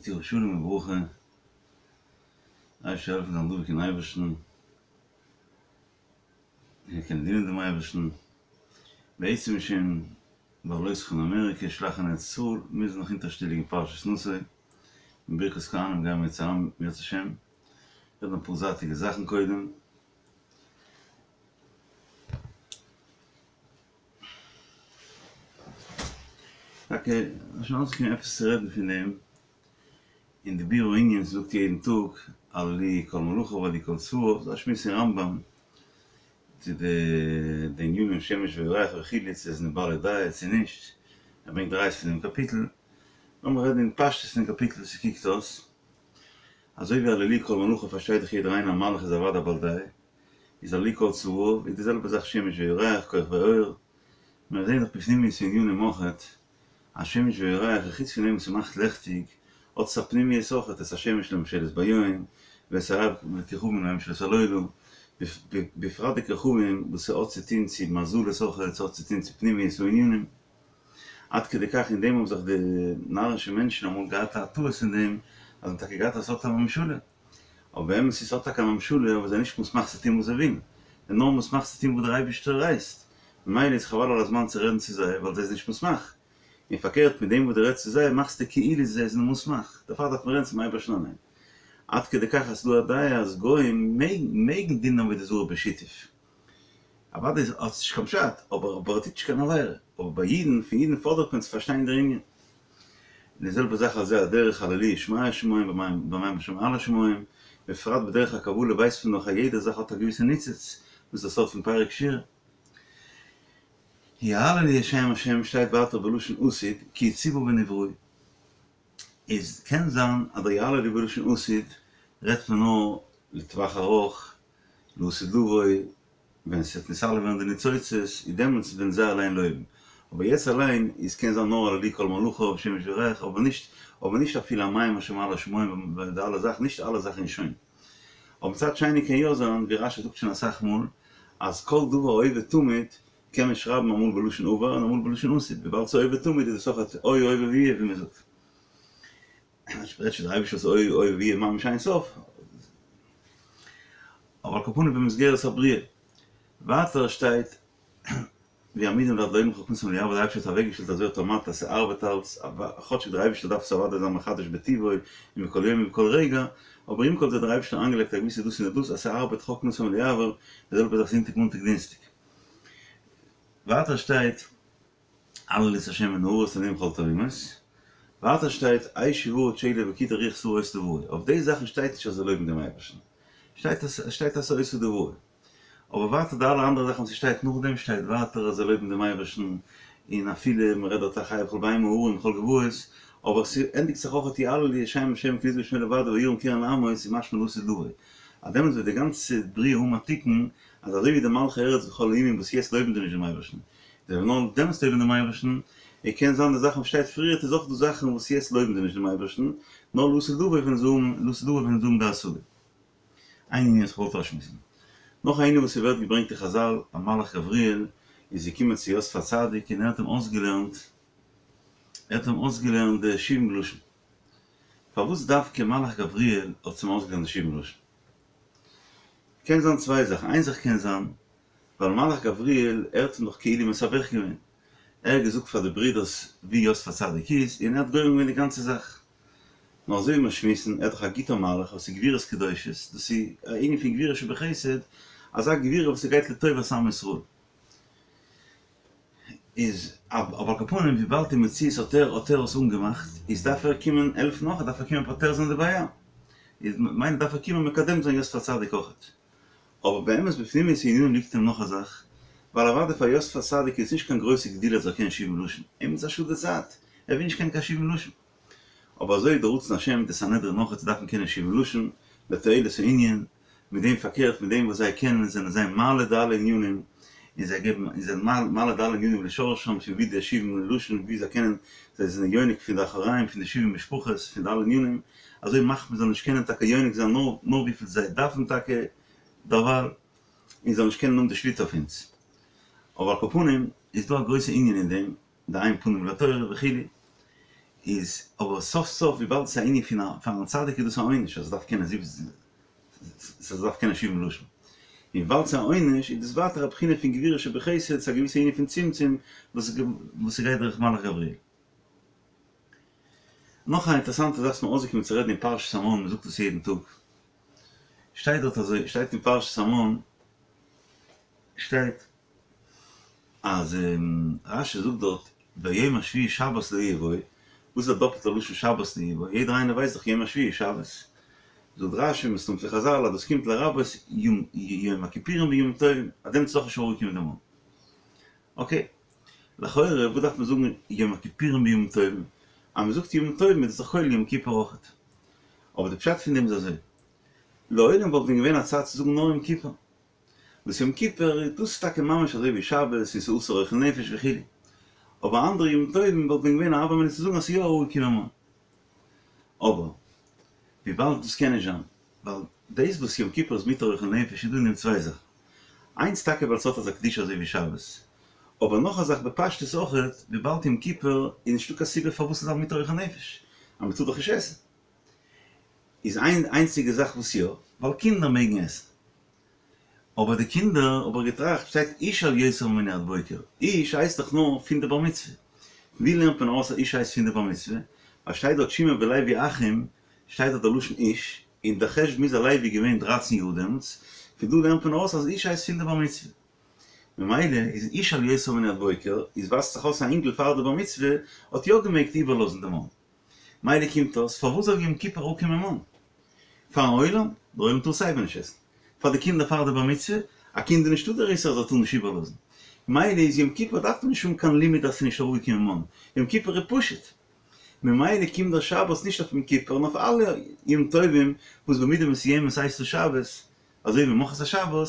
תראו שלום וברכה, אייבערשטער זאל העלפן זיין דבוק אין אייבערשטן, און קענען דינען דעם אייבערשטן, בעצם איז שוין בהעלותך אין אמעריקע, שלח אין ארץ ישראל, מיר זענען נאך הינטערשטעליג אין פרשת נשא, און ברכת כהנים גייען מיר צוזאם אם ירצה השם, רעדן אפאר זייטיגע זאכן קודם. טאקע שוין אויסגעקומען עפעס צו רעדן פון דעם, אין די ביאור הענין זאגט יעדן טאג הללוהו כל מלאכיו הללוהו כל צבאיו, ס'איז א שמועס אין רמב"ם צו די די ענינים שמש וירח וכו' צו זיי זענען בעלי דעה צו נישט, ער ברענגט ראיות פון דעם קאפיטל, לאמיר רעדן אין פשטות פון דעם קאפיטל ווי ס'קוקט אויס, אזוי ווי הללוהו כל מלאכיו פארשטייט דאך יעדער איינער א מלאך איז אוודאי א בעל דעה, איז הללוהו כל צבאיו איז די זעלבע זאך שמש וירח כוכבי אור, מיר זעהן דאך בפנימיות הענינים אויכעט אז שמש וירח איז חוץ פון דעם וואס ס'מאכט לעכטיג האט עס א פנימיות אויכעט את השמש לממשלת ביום ואת הירח וכוכבים לממשלת הלילה, בפרט די כוכבים וואס ס'האט צו טוהן צו מזלות אויכעט, ס'האט צו טוהן צו פנימיות הענינים, עד כדי כך אין דעם האבן זיך די נארישע מענטשן אמאל געהאט א טעות אין דעם אז זיי האבן טאקע געהאט אז ס'האט א ממשלה. אבער באמת איז ס'האט טאקע א ממשלה אבער זיי נישט מוסמך צו טון וואס זיי ווילן, זיי נאר מוסמך צו טון וואס דער אייבערשטער הייסט, ממילא איז חבל על הזמן צו רעדן צו זיי ווייל זיי זענען נישט מוסמך, און פארקערט מיט דעם וואס דו רעדסט צו זיי מאכסטו כאילו זיי זענען מוסמך, דערפאר דארף מען רעדן צום אייבערשטן אליין. עד כדי כך אז ס'דא א דעה אז גוים מעגן דינען עבודה זרה בשיתוף. אוודאי האט עס נישט קיין פשט, אבער אבער ער טוט נישט קיין עבירה. אבער ביי אידן, פון אידן פאדערט מען צו פארשטיין דער ענין. און די זעלבע זאך על זה הדרך הללוהו שמי השמים והמים אשר מעל השמים, בפרט בדרך הקבלה ווייסט מען דאך אז יעדע זאך האט א געוויסע ניצוץ, דאס איז דער סוד פון פרק שירה. יהללו את שם השם שטייט ווייטער בלשון עתיד כי צוה ונבראו. איז קען זיין אז דער יהללו בלשון עתיד רעדט מען נאר לטווח ארוך, לעתיד לבוא, ווען ס'וועט נתעלה ווערן די ניצוצות, איז דעמאלטס וועלן זיי אליין לויבן. אבער יעצט אליין איז קען זיין נאר הללוהו כל מלאכיו שמש וירח, אבער נישט אבער נישט אפילו המים אשר מעל השמים די אלע זאכן, נישט אלע זאכן איז שוין. אבער מצד שני קען יא זיין, ווי רש"י זאגט שוין אסאך מאל, אז כל דבר ההווה תמיד קען מען שרייבן אמאל בלשון עבר און אמאל בלשון עתיד, וויבאלד ס'איז הווה תמיד איז עס אויך היה הווה ויהיה ווי מ'זאגט. מ'רעדט שוין דער אייבערשטער איז היה הווה ויהיה ממש אין סוף. אבער על כל פנים במסגרת הבריאה. ווייטער שטייט ויעמידם לעד לעולם חכמתם לא יעבור דער אייבערשטער האט אוועקגעשטעלט אזוי אויטאמאט אז ס'ארבעט אלץ, כאטשיג דער אייבערשטער דארף עס אוודאי זיין מחדש בטבעו און בכל יום ובכל רגע, אבער עם כל זה האט דער אייבערשטער איינגעלייגט א געוויסע דאס און דאס אז ס'ארבעט חכמתם לא יעבור, די זעלבע זאך זונטאג מאנטאג דינסטאג. ווייטער שטייט. הללו את ה' מן הארץ תהלום כל תהומות. ווייטער שטייט אש וברד שלג וקיטור רוח סערה עושה דברו. אויף די זאכן שטייט נישט אז זיי לויבן דעם אייבערשטן. שטייט אז שטייט אז ס'איז עושה דברו. אבער ווייטער די אלע אנדערע זאכן וואס ס'שטייט נאכדעם שטייט ווייטער אז זיי לויבן דעם אייבערשטן און אפילו מ'רעדט דארט החי וכל בהמה הרים וכל גבעות אבער ס'ענדיגט זיך אויך יהללו את שם השם כי נשגב שמו לבדו וירם קרן לעמו איז משמע לעתיד לבוא. אז דעמאלטס וועט די גאנצע בריאה האבן א תיקון אז אזוי ווי די מלכי ארץ וכל האומים וואס יעצט לויבן זיי נישט דעם אייבערשטן זיי וועלן נאר דעמאלטס לויבן דעם אייבערשטן, און קען זיין די זאכן וואס שטייט פריערט איז אויך דא זאכן וואס יעצט לויבן זיי נישט דעם אייבערשטן, נאר לעתיד לבוא ווען זיי האבן לעתיד לבוא ווען זיי האבן די השגה. איין ענין וואס איך וואלט אויסשמועסן. נאך א ענין וואס ס'ווערט געברענגט אין חזל, א מלאך גבריאל איז געקומען צו יוסף הצדיק און ער האט אים אויסגעלערנט, ער האט אים אויסגעלערנט די שבעים לשון. פארוואס דווקא מלאך גבריאל האט אים אויסגעלערנט די שבעים לשון? קען זיין צוויי זאכן, איין זאך קען זיין, ווייל מלאך גבריאל ער האט אים דאך כאילו מתווך געווען, ער האט געזאגט פאר די ברידערס ווי יוסף הצדיק איז, און ער האט גורם געווען די גאנצע זאך. נאר אזוי ווי מיר שמועסן, ער איז דאך א גוטער מלאך וואס איז גבורות קדושות, דאס איז א ענין פון גבורה שבחסד, אזא גבורה וואס ס'גייט לטובת עם ישראל. איז אבער על כל פנים וויבאלד אין מציאות האט ער האט ער עס אנגעמאכט, איז דארף ער קומען העלפן אויך, דארף ער קומען פותר זיין די בעיה. איז ממילא דארף ער קומען מקדם זיין יוסף הצדיק אויכעט. אבער באמת בפנימיות הענינים ליגט אים נאך א זאך, ווייל אוודאי פאר יוסף הצדיק איז נישט קיין גרויסע גדולה אז ער קען שבעים לשון, אים איז א שאד די צייט, ער וויל נישט קענען קיין שבעים לשון. אבער אזוי איז די רצון השם, די סנהדרין נאך צו דארפן קענען שבעים לשון, לתועלת הענין, מיט דעם פארקערט מיט דעם וואס זיי קענען זענען זיי מעלה די אלע ענינים, און זיי געבן און זענען מעלה די אלע ענינים לשורשם פון ווי די שבעים לשון ווי זיי קענען זיי זענען יונק פון די אחוריים פון די שבעים משפחות פון די אלע ענינים, אזוי מאכט מען זאל נישט קענען טאקע יונק זיין נאר נאר וויפיל זיי דארפן טאקע דערווייל, און זאל נישט קענען האבן די שליטה אויף אונז. אבער על כל פנים איז דא א גרויסע ענין אין דעם, די אין פנים לתורה וכו'. איז אבער סוף סוף וויבאלד עס איז א ענין פון א פארן צדיק איז דאס א עונש אז ער דארף קענען זיבן אז ער דארף קענען שבעים לשון. און וויבאלד ס'איז א עונש איז דאס ווייטער א בחינה פון גבורה שבחסד, ס'איז א געוויסע ענין פון צמצום וואס וואס ס'גייט דורך מלאך גבריאל. נאך א אינטערעסאנטע זאך וואס מיר אויסגעקומען צו רעדן אין פרשת המן, מ'זאגט עס יעדן טאג, שטייט דארט אזוי, שטייט אין פרשת המן, שטייט אז רש"י זאגט דארט ביום השביעי שבת לא יהיה בו, וואס איז א דאפלטע לשון שבת לא יהיה בו, יעדער איינער ווייסט דאך יום השביעי איז שבת, זאגט רש"י מסתם פון חז"ל אז דאס קומט לרבות יום הכיפורים וימים טובים, אז דעמאלטס איז אויך נישט אראפגעקומען די מן. אקעי, לכאורה וואס דארף מען זאגן יום הכיפורים וימים טובים, אז מען זאגט ימים טובים איז דאס דאך כולל יום כיפור אויכעט. אבער די פשט פון דעם איז אזוי, לעולם וואלט ווען געווען א צד צו זאגן נאר יום כיפור, וואס יום כיפור איז דאס טאקע ממש אזוי ווי שבת און ס'איז אסור אוכל נפש וכו', אבער אנדערע ימים טובים וואלט ווען געווען א הוה אמינא צו זאגן אז ס'איז יא אראפגעקומען מן. אבער וויבאלד דאס קען נישט זיין, ווייל דאס וואס יום כיפור איז מותר אוכל נפש איז דא אין דעם צוויי זאכן, איינס טאקע ווייל ס'האט אזא קדושה אזוי ווי שבת, אבער נאך א זאך בפשטות אויכעט, וויבאלד יום כיפור איז נישטא קיין סיבה פארוואס ס'זאל זיין מותר אוכל נפש, אז מ'טאר דאך נישט עסן. איז איין איינציגע זאך וואס יא, ווייל קינדער מעגן עסן. אבער די קינדער, האב איך געטראכט, שטייט איש אל יותר ממנו עד בוקר, איש הייסט דאך נאר פון די בר מצוה. ווי לערנט מען ארויס אז איש הייסט פון די בר מצוה? ווייל שטייט דארט שמעון ולוי אחים, שטייט דארט די לשון איש, און דער חשבון איז אז לוי איז געווען דרייצן יאר דעמאלטס, פון דא לערנט מען ארויס אז איש הייסט פון די בר מצוה. ממילא איז איש אל יותר ממנו עד בוקר, איז ווייזט זיך אויס א אינגל פאר די בר מצוה האט יא געמעגט איבערלאזן די מן. מילא קומט אויס, פארוואס זאל יום כיפור אראפקומען מן? פארן עולם? דער עולם טאר סייווי נישט עסן. פאר די קינדער פאר די בר מצוה? א קינד איז נישטא דער איסור אז ער טאר נישט איבערלאזן. מילא איז יום כיפור דארף מען נישט האבן קיין לימוד אז ס'איז נישט אראפגעקומען מן. יום כיפור איז פשוט. ממילא קומט דער שבת נישט אויף יום כיפור נאר אויף אלע יום טובים וואס במידה מסוימת הייסט עס שבת, אזוי ווי ממחרת השבת,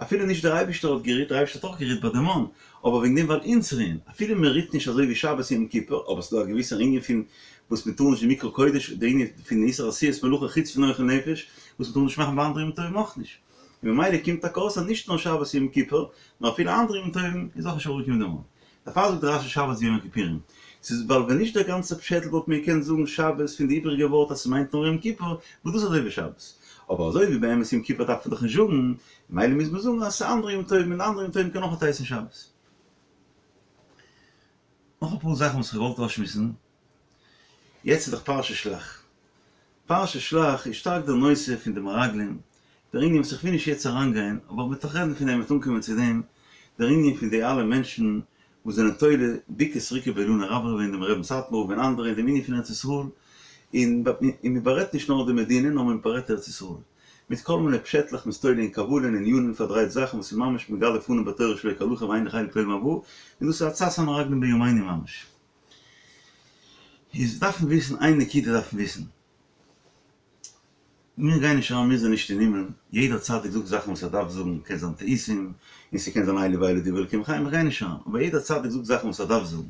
אפילו נישט דער אייבישטער האט גערוהט, דער אייבישטער האט אויך גערוהט ביי די מן, אבער וועגן דעם ווייל אונז רוען, אפילו מען רוהט נישט אזוי ווי שבת און יום כיפור, אבער ס'איז דא א געוויסער ענין פון וואס מען טאר נישט די מקרא קודש, די ענין פון איסור עשיית מלאכה חוץ פון אוכל נפש, וואס מען טאר נישט מאכן ביי אנדערע ימים טובים אויך נישט. און ממילא קומט טאקע אויס אז נישט נאר שבת און יום כיפור, נאר אפילו אנדערע ימים טובים איז אויך נישט אראפגעקומען די מן. דערפאר זאגט רש"י שבת ויום הכיפורים. ס'איז ווייל ווען נישט דער גאנצער פשעטל וואלט מען געקענט זאגן שבת פון די איבעריגע ווארט אז ס'מיינט נאר יום כיפור, וואס דאס איז אזוי ווי שבת. אבער אזוי ווי באמת יום כיפור דארף מען דאך נישט זאגן, ממילא מוז מען זאגן אז ס'איז אנדערע יום טובים און אנדערע יום טובים קען אויך הייסן שבת. נאך אפאר זאכן וואס כ'האב געוואלט אויסשמועסן. יעצט איז דאך פרשת שלח. פרשת שלח איז שטארק דער נושא פון די מרגלים, דער ענין וואס איך וויל נישט יעצט אריינגיין, אבער מ'וועט דאך רעדן פון דעם, מ'וועט אנקומען צו דעם, דער ענין פון די אלע מענטשן וואס זענען תולה בוקע סריקא באילנא רברבא דעם רבי'ן סאטמאר און אנדערע אין דעם ענין פון ארץ ישראל, און און מ'בארעדט נישט נאר די מדינה נאר מען בארעדט ארץ ישראל, מיט כל מיני פשעטלעך מ'איז תולה אין קבלה און ענינים פארדרייט זאכן וואס איז ממש מגלה פנים בתורה שלא כהלכה ואין לו חלק לעולם הבא, און דאס איז עצת המרגלים בימינו ממש. איז דארף מען וויסן איין נקודה דארף מען וויסן. מיר גייען נישט אריין מיר זענען נישט אין הימל, יעדער צדיק זאגט זאכן וואס ער דארף זאגן, קען זיין טעותים, און ס'קען זיין אלו ואלו דברי אלקים חיים, איך גיי נישט אריין, אבער יעדער צדיק זאגט זאכן וואס ער דארף זאגן.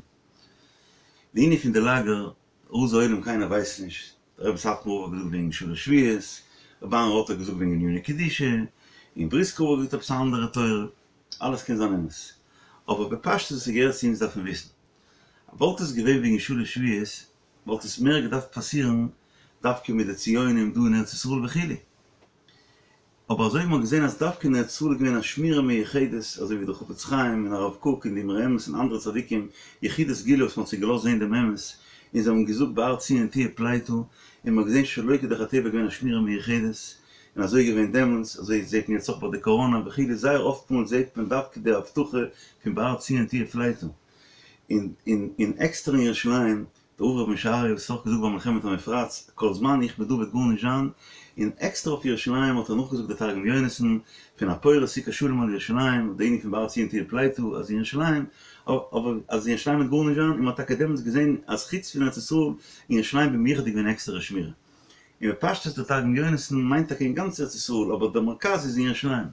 די ענין פון די לאגער, רזי עולם קיינער ווייסט נישט, דער רבי סאטמאר רב האט געזאגט וועגן שלש שבועות, רבי אהרן ראטה האט געזאגט וועגן עניני קדושה, און בריסקער רב האט געזאגט עפעס א אנדערע תורה, אלעס קען זיין אמת, אבער בפשטות וואס ס'געהערט צו אונז דארף מען וויסן, וואלט עס געווען וועגן שלש שבועות וואלט עס מער געדארפט פאסירן דווקא מיט די ציונים דא אין ארץ ישראל וכו', אבער אזוי ווי מ'האט געזען אז דווקא אין ארץ ישראל איז געווען א שמירה מיוחדת, אזוי ווי דער חפץ חיים און הרב קוק און די אמרי אמת און אנדערע צדיקים יחידי סגולה וואס מ'האט זיי געלאזט זען דעם אמת, און זיי האבן געזאגט בהר ציון תהיה פליטה, און מ'האט געזען שלא כדרך הטבע איז געווען א שמירה מיוחדת, און אזוי איז געווען דעמאלטס, אזוי זעט מען יעצט אויך ביי די קאראנא וכו', זייער אפטמאל זעט מען דווקא די הבטחה פון בהר ציון תהיה פליטה, און און און עקסטער אין ירושלים, דער רב רבי משה אריה וואס האט אויך געזאגט ביי מלחמת המפרץ, כל זמן איך בין דא וועט גארנישט זיין, און עקסטער אויף ירושלים האט ער נאכגעזאגט די תרגום יונתן, פון הפורש סוכת שלום על ירושלים, די ענין פון בהר ציון תהיה פליטה, אז אין ירושלים, אבער אז אין ירושלים וועט גארנישט זיין, און מען האט טאקע דעמאלטס געזען אז חוץ פון ארץ ישראל, אין ירושלים במיוחד איז געווען עקסטערע שמירה. און בפשטות דער תרגום יונתן מיינט טאקע אין גאנץ ארץ ישראל, אבער דער מרכז איז אין ירושלים.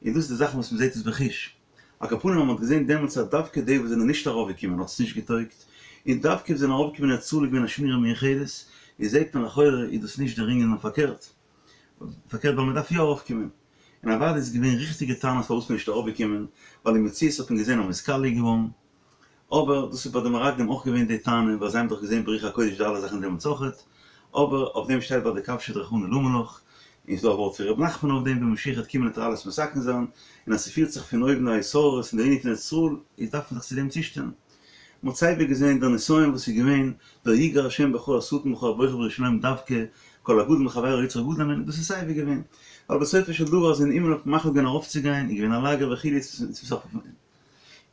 און דאס איז די זאכן וואס מען זעט עס בחוש. על כל פנים אז מען האט געזען דעמאלטס אז דווקא די וואס זענען נישט ארויפגעקומען האט עס נישט געטויגט, און דווקא וואס זענען ארויפגעקומען אין ארץ ישראל איז געווען א שמירה מיוחדת, איז זעט מען לכאורה איז דאס נישט דער ענין נאר פארקערט, פארקערט ווייל מען דארף יא ארויפקומען. און אוודאי איז געווען ריכטיגע טענות פארוואס מען איז נישט ארויפגעקומען, ווייל אין מציאות האט מען געזען אז מען איז קאליע געווארן. אבער דאס איז ביי די מרגלים אויך געווען די טענה, ווייל זיי האבן דאך געזען ברוח הקודש די אלע זאכן דעמאלטס אויכעט, אבער אויף דעם שטייט ביי די כבשי דרחמנא למה לך, און ס'דא א ווארט פון ר' נחמן אויף דעם, ווען משיח וועט קומען וועט ער אלעס מתקן זיין, און אז ס'פירט זיך פון אויבן א התעוררות אין די ענין פון ארץ ישראל, איז דארף מען זיך צו דעם צושטעלן. מ'האט סייווי געזען דער נסיון וואס איז געווען, דער יגער השם בך השטן בך הבוחר בירושלים דווקא, כל הגדול מחבירו יצרו גדול הימנו, דאס איז סייווי געווען, ווייל בסופו של דבר אז אין הימל האט מען מחליט געווען ארויפצוגיין, איז געווען א לאגער וכו', צום סוף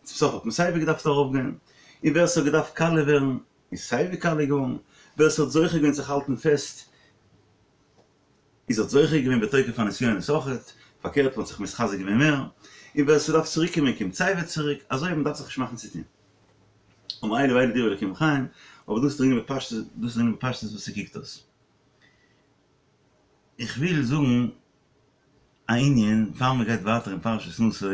צום סוף האט מען סייווי געדארפט ארויפגיין, און ווער ס'האט געדארפט קאליע ווערן, איז סייווי קאליע געווארן, ווער ס'האט זוכה געווען זיך האלטן פעסט, איז האט זוכה געווען בתוקף הנסיונות אויכעט, פארקערט מ'האט זיך מתחזק געווען מער, און ווער ס'דארף צוריק קומען קומט סייווי צוריק, אזוי מ'דארף זיך נישט מאכן צוטון. און אלו ואלו דברי אלקים חיים, אבער דאס איז דער ענין בפשטות, דאס איז דער ענין בפשטות וואס ס'קוקט אויס. איך וויל זאגן א ענין פאר מ'גייט ווייטער אין פרשת נשא,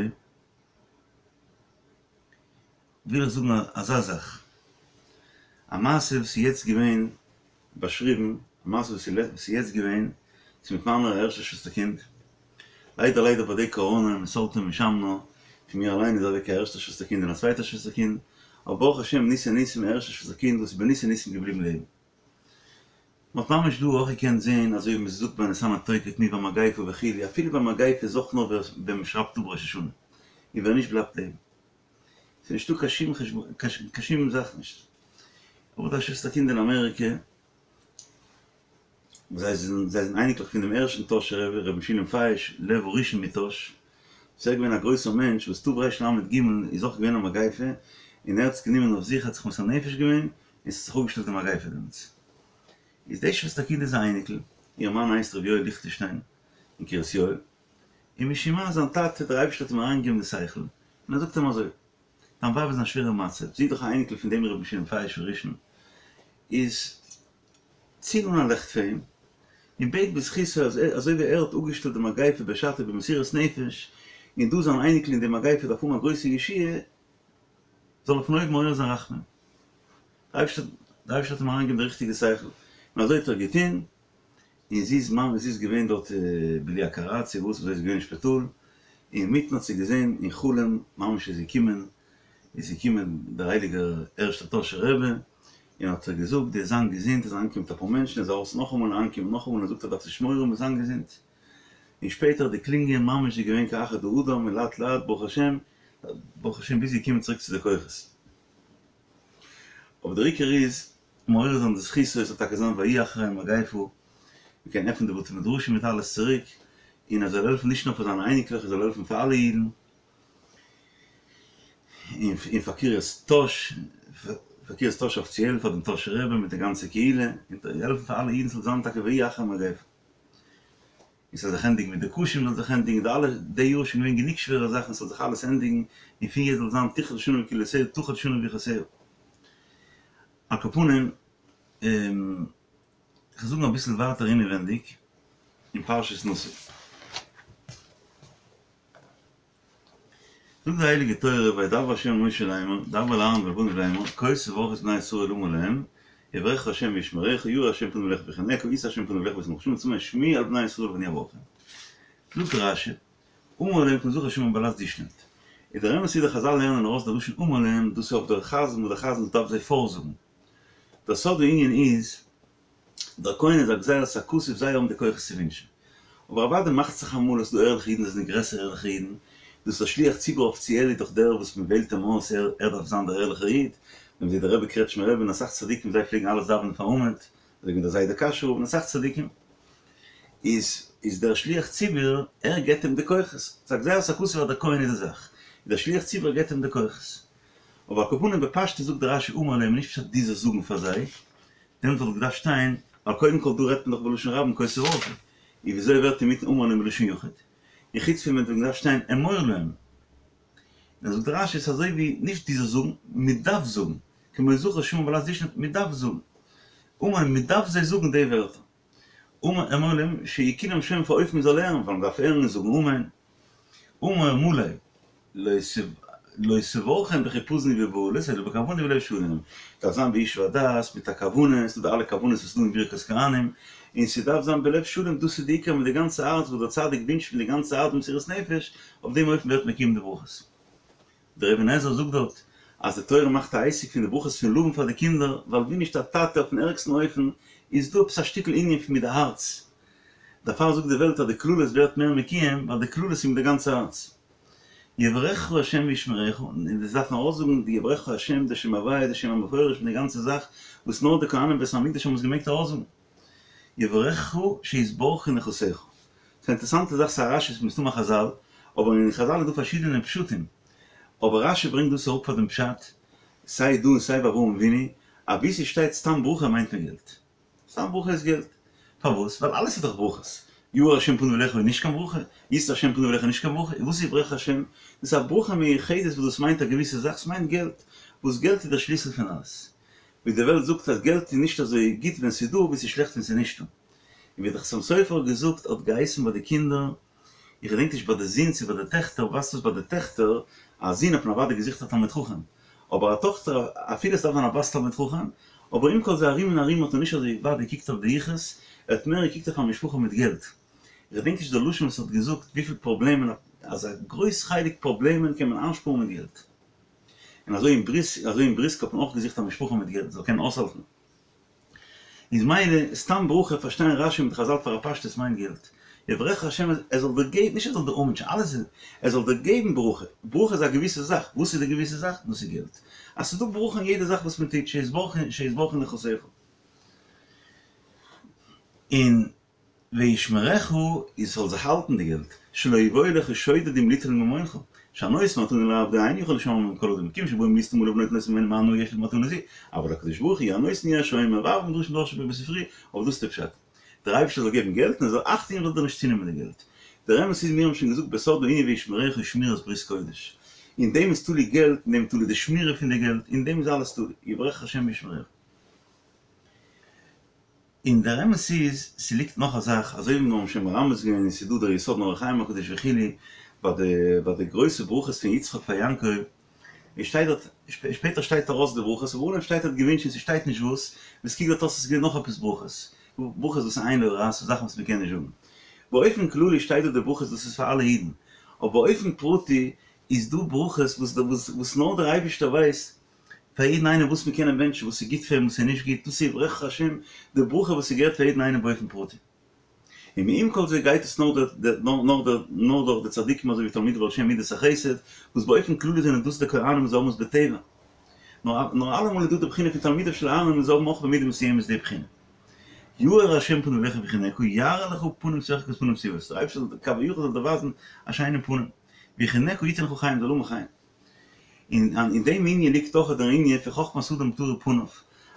וויל איך זאגן אזא זאך, א מעשה וואס איז יעצט געווען באשריבן, א מעשה וואס איז יעצט געווען, ס'איז מיט מיינער א ערשטע שוועסטער קינד, ליידער ליידער ביי די קאראנע מסלתה ומשמנה, פון מיר אליין איז אוועק א ערשטע שוועסטער קינד און א צווייטע שוועסטער קינד, אבער ברוך השם ניסי ניסים א ערשטע שוועסטער קינד וואס איז בניסי ניסים געבליבן לעבן. מ'האט ממש דא אויך געקענט זעהן אזוי ווי מ'זאגט ביי ונתנה תוקף מיט ביי מגיפה וכו', אפילו ביי מגיפה איז אויך נאר ווען מ'שרייבט אפ ראש השנה, און ווער נישט בלייבט לעבן. ס'איז נישטא קיין שום חשבון, קיין שום זאך נישט. אבער דא א שוועסטער קינד אין אמעריקע, זיי זענען זיי זענען אייניקלעך פון דעם ערשטן טאהשער רבי, רבי משולם פייש, לב הראשון מטאהש, וואס ער איז געווען א גרויסער מענטש, וואס תרל"ג איז אויך געווען א מגיפה, און ער האט עס גענומען אויף זיך, ער האט זיך מוסר נפש געווען, און ס'האט זיך אפגעשטעלט די מגיפה דעמאלטס. איז די שוועסטער קינד איז א אייניקל, איר מאן הייסט ר' יואל ליכטענשטיין אין קרית יואל, און משום מה זיין טאטע דער אייבערשטער האט אים אריינגעגעבן די שכל, און ער זאגט אים אזוי, דיין ווייב איז אין א שווערע מצב, זי איז דאך א אייניקל פון דעם רבי משולם פייש הראשון, איז צינד אן א לעכט פאר אים, און בעט בזכותו אז אזוי ווי ער האט אפגעשטעלט די מגיפה בשעתו במסירות נפש, און דא זיין אייניקל אין די מגיפה דארף האבן א גרויסע ישועה, זאל ער פון אויבן מעורר זיין רחמים. דער אייבערשטער האט אים אריינגעגעבן די ריכטיגע שכל, און אזוי האט ער געטון, און זי איז ממש זי איז געווען דארט בלי הכרה צו וואס, זי איז געווען אין שפיטאל, אינמיטן האט זי געזען אין חלום ממש איז געקומען, איז געקומען דער הייליגער ערשטער טאהשער רבי, און האט איר געזאגט דו זיין געזונט, איז אריינגעקומען מיט אפאר מענטשן, איז ארויס נאכאמאל און אריינגעקומען נאכאמאל און זאגט איר דארפסט נישט מורא האבן זיין געזונט, און שפעטער האט געקלינגען ממש איז געווען כאחד האדם און לאט לאט ברוך השם, ברוך השם ביז זי איז געקומען צוריק צו די כוחות. אבער דער עיקר איז מעורר זיין די זכות עס זאל טאקע זיין ויהי אחרי המגיפה, מען קען עפענען די בתי מדרשים מיט אלעס צוריק, און ער זאל העלפן נישט נאר פאר זיינע אייניקלעך ער זאל העלפן פאר אלע אידן, און פאר קרית טאהש, פאר קרית טאהש אפיציעל, פאר דעם טאהשער רבי מיט די גאנצע קהילה, און העלפן פאר אלע אידן ס'זאל זיין טאקע ויהי אחרי המגיפה. און ס'זאל זיך ענדיגן מיט די קשים זאל זיך ענדיגן, די אלע, די יאר איז שוין געווען גענוג שווערע זאכן ס'זאל זיך אלעס ענדיגן, און פון יעצט זאל זיין תכלה שנה וקללותיה תחל שנה וברכותיה. על כל פנים, כ'וועל זאגן אביסל ווייטער אינעווענדיג אין פרשת נשא. זאגט די הייליגע תורה וידבר ה' אל משה לאמר, דבר אל אהרן ואל בניו לאמר, כה תברכו את בני ישראל לאמר להם, יברכך ה' וישמרך, יאר ה' פניו אליך ויחנך, ישא ה' פניו אליך וישם לך שלום, שמע שמי אל בני ישראל ואני אברכם. זאגט רש"י, אמור להם כמו זכר שמעון בלז דישנט. איז דער אמת איז די חזל לערנען ארויס די לשון אמור להם, דאס איז אויף דער חזן וואס דער חזן דארף זיי פארזאגן. דער סוד הענין איז, דער כהן איז א גזירת הכתוב זיי האבן די כוחות צו ווינטשן. אבער אוודאי מאכט זיך אמאל אז ס'דא ערליכע אידן וואס זענען גרעסערע ערליכע אידן, דאס א שליח ציבור אפיציעל איז דאך דער וואס מען וועלט אים אויס ער ער דארף זיין דער ערליכער איד, ווען מ'זעט דער רבי קרעטשמער רבי און אסאך צדיקים זיי פלעגן אלעס דאווענען פארן עמוד, אזוי ווי דער זיידע קאשוי רב און אסאך צדיקים, איז איז דער שליח ציבור ער געבט אים די כוחות, ס'איז א גזירת הכתוב אז דער כהן איז די זאך, דער שליח ציבור געבט אים די כוחות. אבער על כל פנים בפשטות זאגט דער רש"י אמור להם נישט פשט דו זאלסט זאגן פאר זיי, דעמאלט וואלט געדארפט שטיין, ווייל קודם כל דא רעדט מען דאך בלשון רבים כה תברכו, און וויאזוי ווערט אינמיטן אמור להם בלשון יחיד? און חוץ פון דעם וואלט געדארפט שטיין אמור להם. און זאגט רש"י ס'איז אזוי ווי נישט דו זאלסט זאגן, מען דארף זאגן, כמו זכר שמעון בלעז דישנט, מען דארף זאגן. אמור להם, מען דארף זיי זאגן די ווערטער. אמור להם, שיהיו כולם שומעים פאר אופן מען זאל הערן, ווייל מען דארף הערן און זאגן אמן. אמור מלא, לא תברכם בחיפזון ובבהלות אלא בכוונה ובלב שלם, דארף זיין בישוב הדעת מיט א כוונה, ס'דא די אלע כוונות וואס איז דא אין ברכת כהנים, און ס'דארף זיין בלב שלם, דאס איז די עיקר מיט די גאנצע הארץ וואס דער צדיק ווינטשט מיט די גאנצע הארץ במסירות נפש, אויף דעם אופן ווערט מקוים די ברכות. דער אבן עזרא זאגט דארט. אז די תורה מאכט א עסק פון די ברכות פון לבן פאר די קינדער, ווייל ווי נישט א טאטע אויפן ערגסטן אופן, איז דא עפעס א שטיקל ענין פון מיט די הארץ. דערפאר זאגט די וועלט אז די קללות ווערט מער מקוים, ווייל די קללות איז מיט די גאנצע הארץ. יברכך ה' וישמרך, און דאס דארף מען ארויסזאגן, די יברכך ה', די שם הוויה, די שם המפורש, מיט די גאנצע זאך, וואס נאר די כהנים בית המקדש האבן עס געמעגט ארויסזאגן. יברכך שיתברכו נכסיך. ס'איז א אינטערעסאנטע זאך, ס'איז א רש"י, ס'איז מסתמא חזל, אבער אין חזל איז דא פארשידענע פשטים, אבער רש"י ברענגט דאס אראפ פאר דעם פשט, סיי דא און סיי ביי אברהם אבינו, אז וואו ס'שטייט סתם ברכה מיינט מען געלט. סתם ברכה איז געלט. פארוואס? ווייל אלעס איז דאך ברכות. יאר השם פניו אליך איז נישט קיין ברכה, ישא השם פניו אליך איז נישט קיין ברכה, און וואס איז יברכך השם? דאס איז א ברכה מיוחדת וואס דאס מיינט א געוויסע זאך, ס'מיינט געלט, וואס געלט איז דער שליסל פון אלעס. ווי די וועלט זאגט אז געלט איז נישט אזוי גוט ווען ס'איז דא ווי ס'איז שלעכט ווען ס'איז נישטא. און ווי דער חתם סופר האט געזאגט האט געהייסן ביי די קינדער, איך געדענק נישט ביי די זין צו ביי די טעכטער, ווייזט אויס ביי די טעכטער, א זון האט מען אוודאי געזוכט א תלמיד חכם, אבער א טאכטער אפילו עס דארף זיין א בת תלמיד חכם, אבער עם כל זה ארום און ארום האט ער נישט אזוי ווייט געקוקט אויף די יחוס, ער האט מער געקוקט אויף א משפחה מיט געלט. איך געדענק נישט די לשון וואס ער האט געזאגט וויפיל פראבלעמען, אז א גרויס חלק פראבלעמען קען מען איינשפארן מיט געלט. און אזוי אין בריסק, אזוי אין בריסק האט מען אויך געזוכט א משפחה מיט געלט זאל קענען אויסהאלטן. איז מילא, סתם ברכה פארשטייען רש"י מיט חזל פאר א פשטות מיינט געלט. יברכך השם ער זאל דיר געבן, נישט ער זאל דיר אנווינטשן, אלעס איז, ער זאל דיר געבן ברכה. ברכה איז א געוויסע זאך, וואס איז די געוויסע זאך? דאס איז געלט. אז ס'איז דא ברכה אין יעדע זאך וואס מען טוט, שיתברכו שיתברכו נכסיך. און וישמרך איז ס'זאל זיך האלטן די געלט, שלא יבואו עליך שודדים ליטול ממונך, שהנותן מתנה לעבדו אינו יכול לשמרה מכל אדם, כיוון שבאים ליסטים עליו נוטלין אותה ממנו מה הנאה יש לו במתנה זו, אבל הקדוש ברוך הוא הנותן הוא השומר, והרבה מדרשים דרשו בספרי, אבער דאס איז די פשט. דער אייבערשטער זאל געבן געלט און ער זאל אכט טון זאל דיר נישט צונעמען די געלט. דער אמת איז מיר האבן שוין געזאגט בסוד הענין וישמרך איז שמירת ברית קודש. אין דעם איז תלוי געלט, אין דעם איז תלוי די שמירה פון די געלט, אין דעם איז אלעס תלוי, יברכך השם וישמרך. און דער אמת איז, ס'ליגט נאך א זאך, אזוי ווי מיר האבן שוין מרמז געווען און ס'איז דא דער יסוד אין אור החיים הקדוש וכו', ביי די ביי די גרויסע ברכות פון יצחק פאר יעקב, עס שטייט דארט, שפעטער שטייט ארויס די ברכות, אבער אנהייב שטייט ער האט געווינטשן און ס'שטייט נישט וואס, ווי ס'קוקט דארט אויס איז געווען נאך עפעס ברכות, ברכות וואס עין לא ראתה, זאכן וואס מ'קען נישט זאגן. באופן כללי שטייט דא די ברכות דאס איז פאר אלע אידן, אבער באופן פרטי איז דא ברכות וואס וואס נאר דער אייבערשטער ווייסט, פאר יעדן איינעם וואס מ'קען אים וואונטשן, וואס איז גוט פאר אים, וואס איז נישט גוט, דאס איז יברכך השם, די ברכה וואס איז געהערט פאר יעדן איינעם באופן פרטי. און מעם כל זה גייט עס נאר נאר דורך די צדיקים אזוי ווי תלמידי בעל שם מידת החסד, וואס באופן כללי זענען דאס די כהנים וואס זיי האבן עס בטבע. נאר אלעמאל איז דא די בחינה פון תלמידיו של אהרן און זיי האבן אויך במידה מסוימת די בחינה. יאר השם פניו אליך ויחנך, יראה לך פנים שוחקות ופנים שיבות, דער אייבערשטער זאל כביכול זאל דיר ווייזן א שיינעם פנים, ויחנך יתן לך חן, זאל האבן חן. און אין דעם ענין ליגט אויך דער ענין פון חכמת אדם תאיר פניו,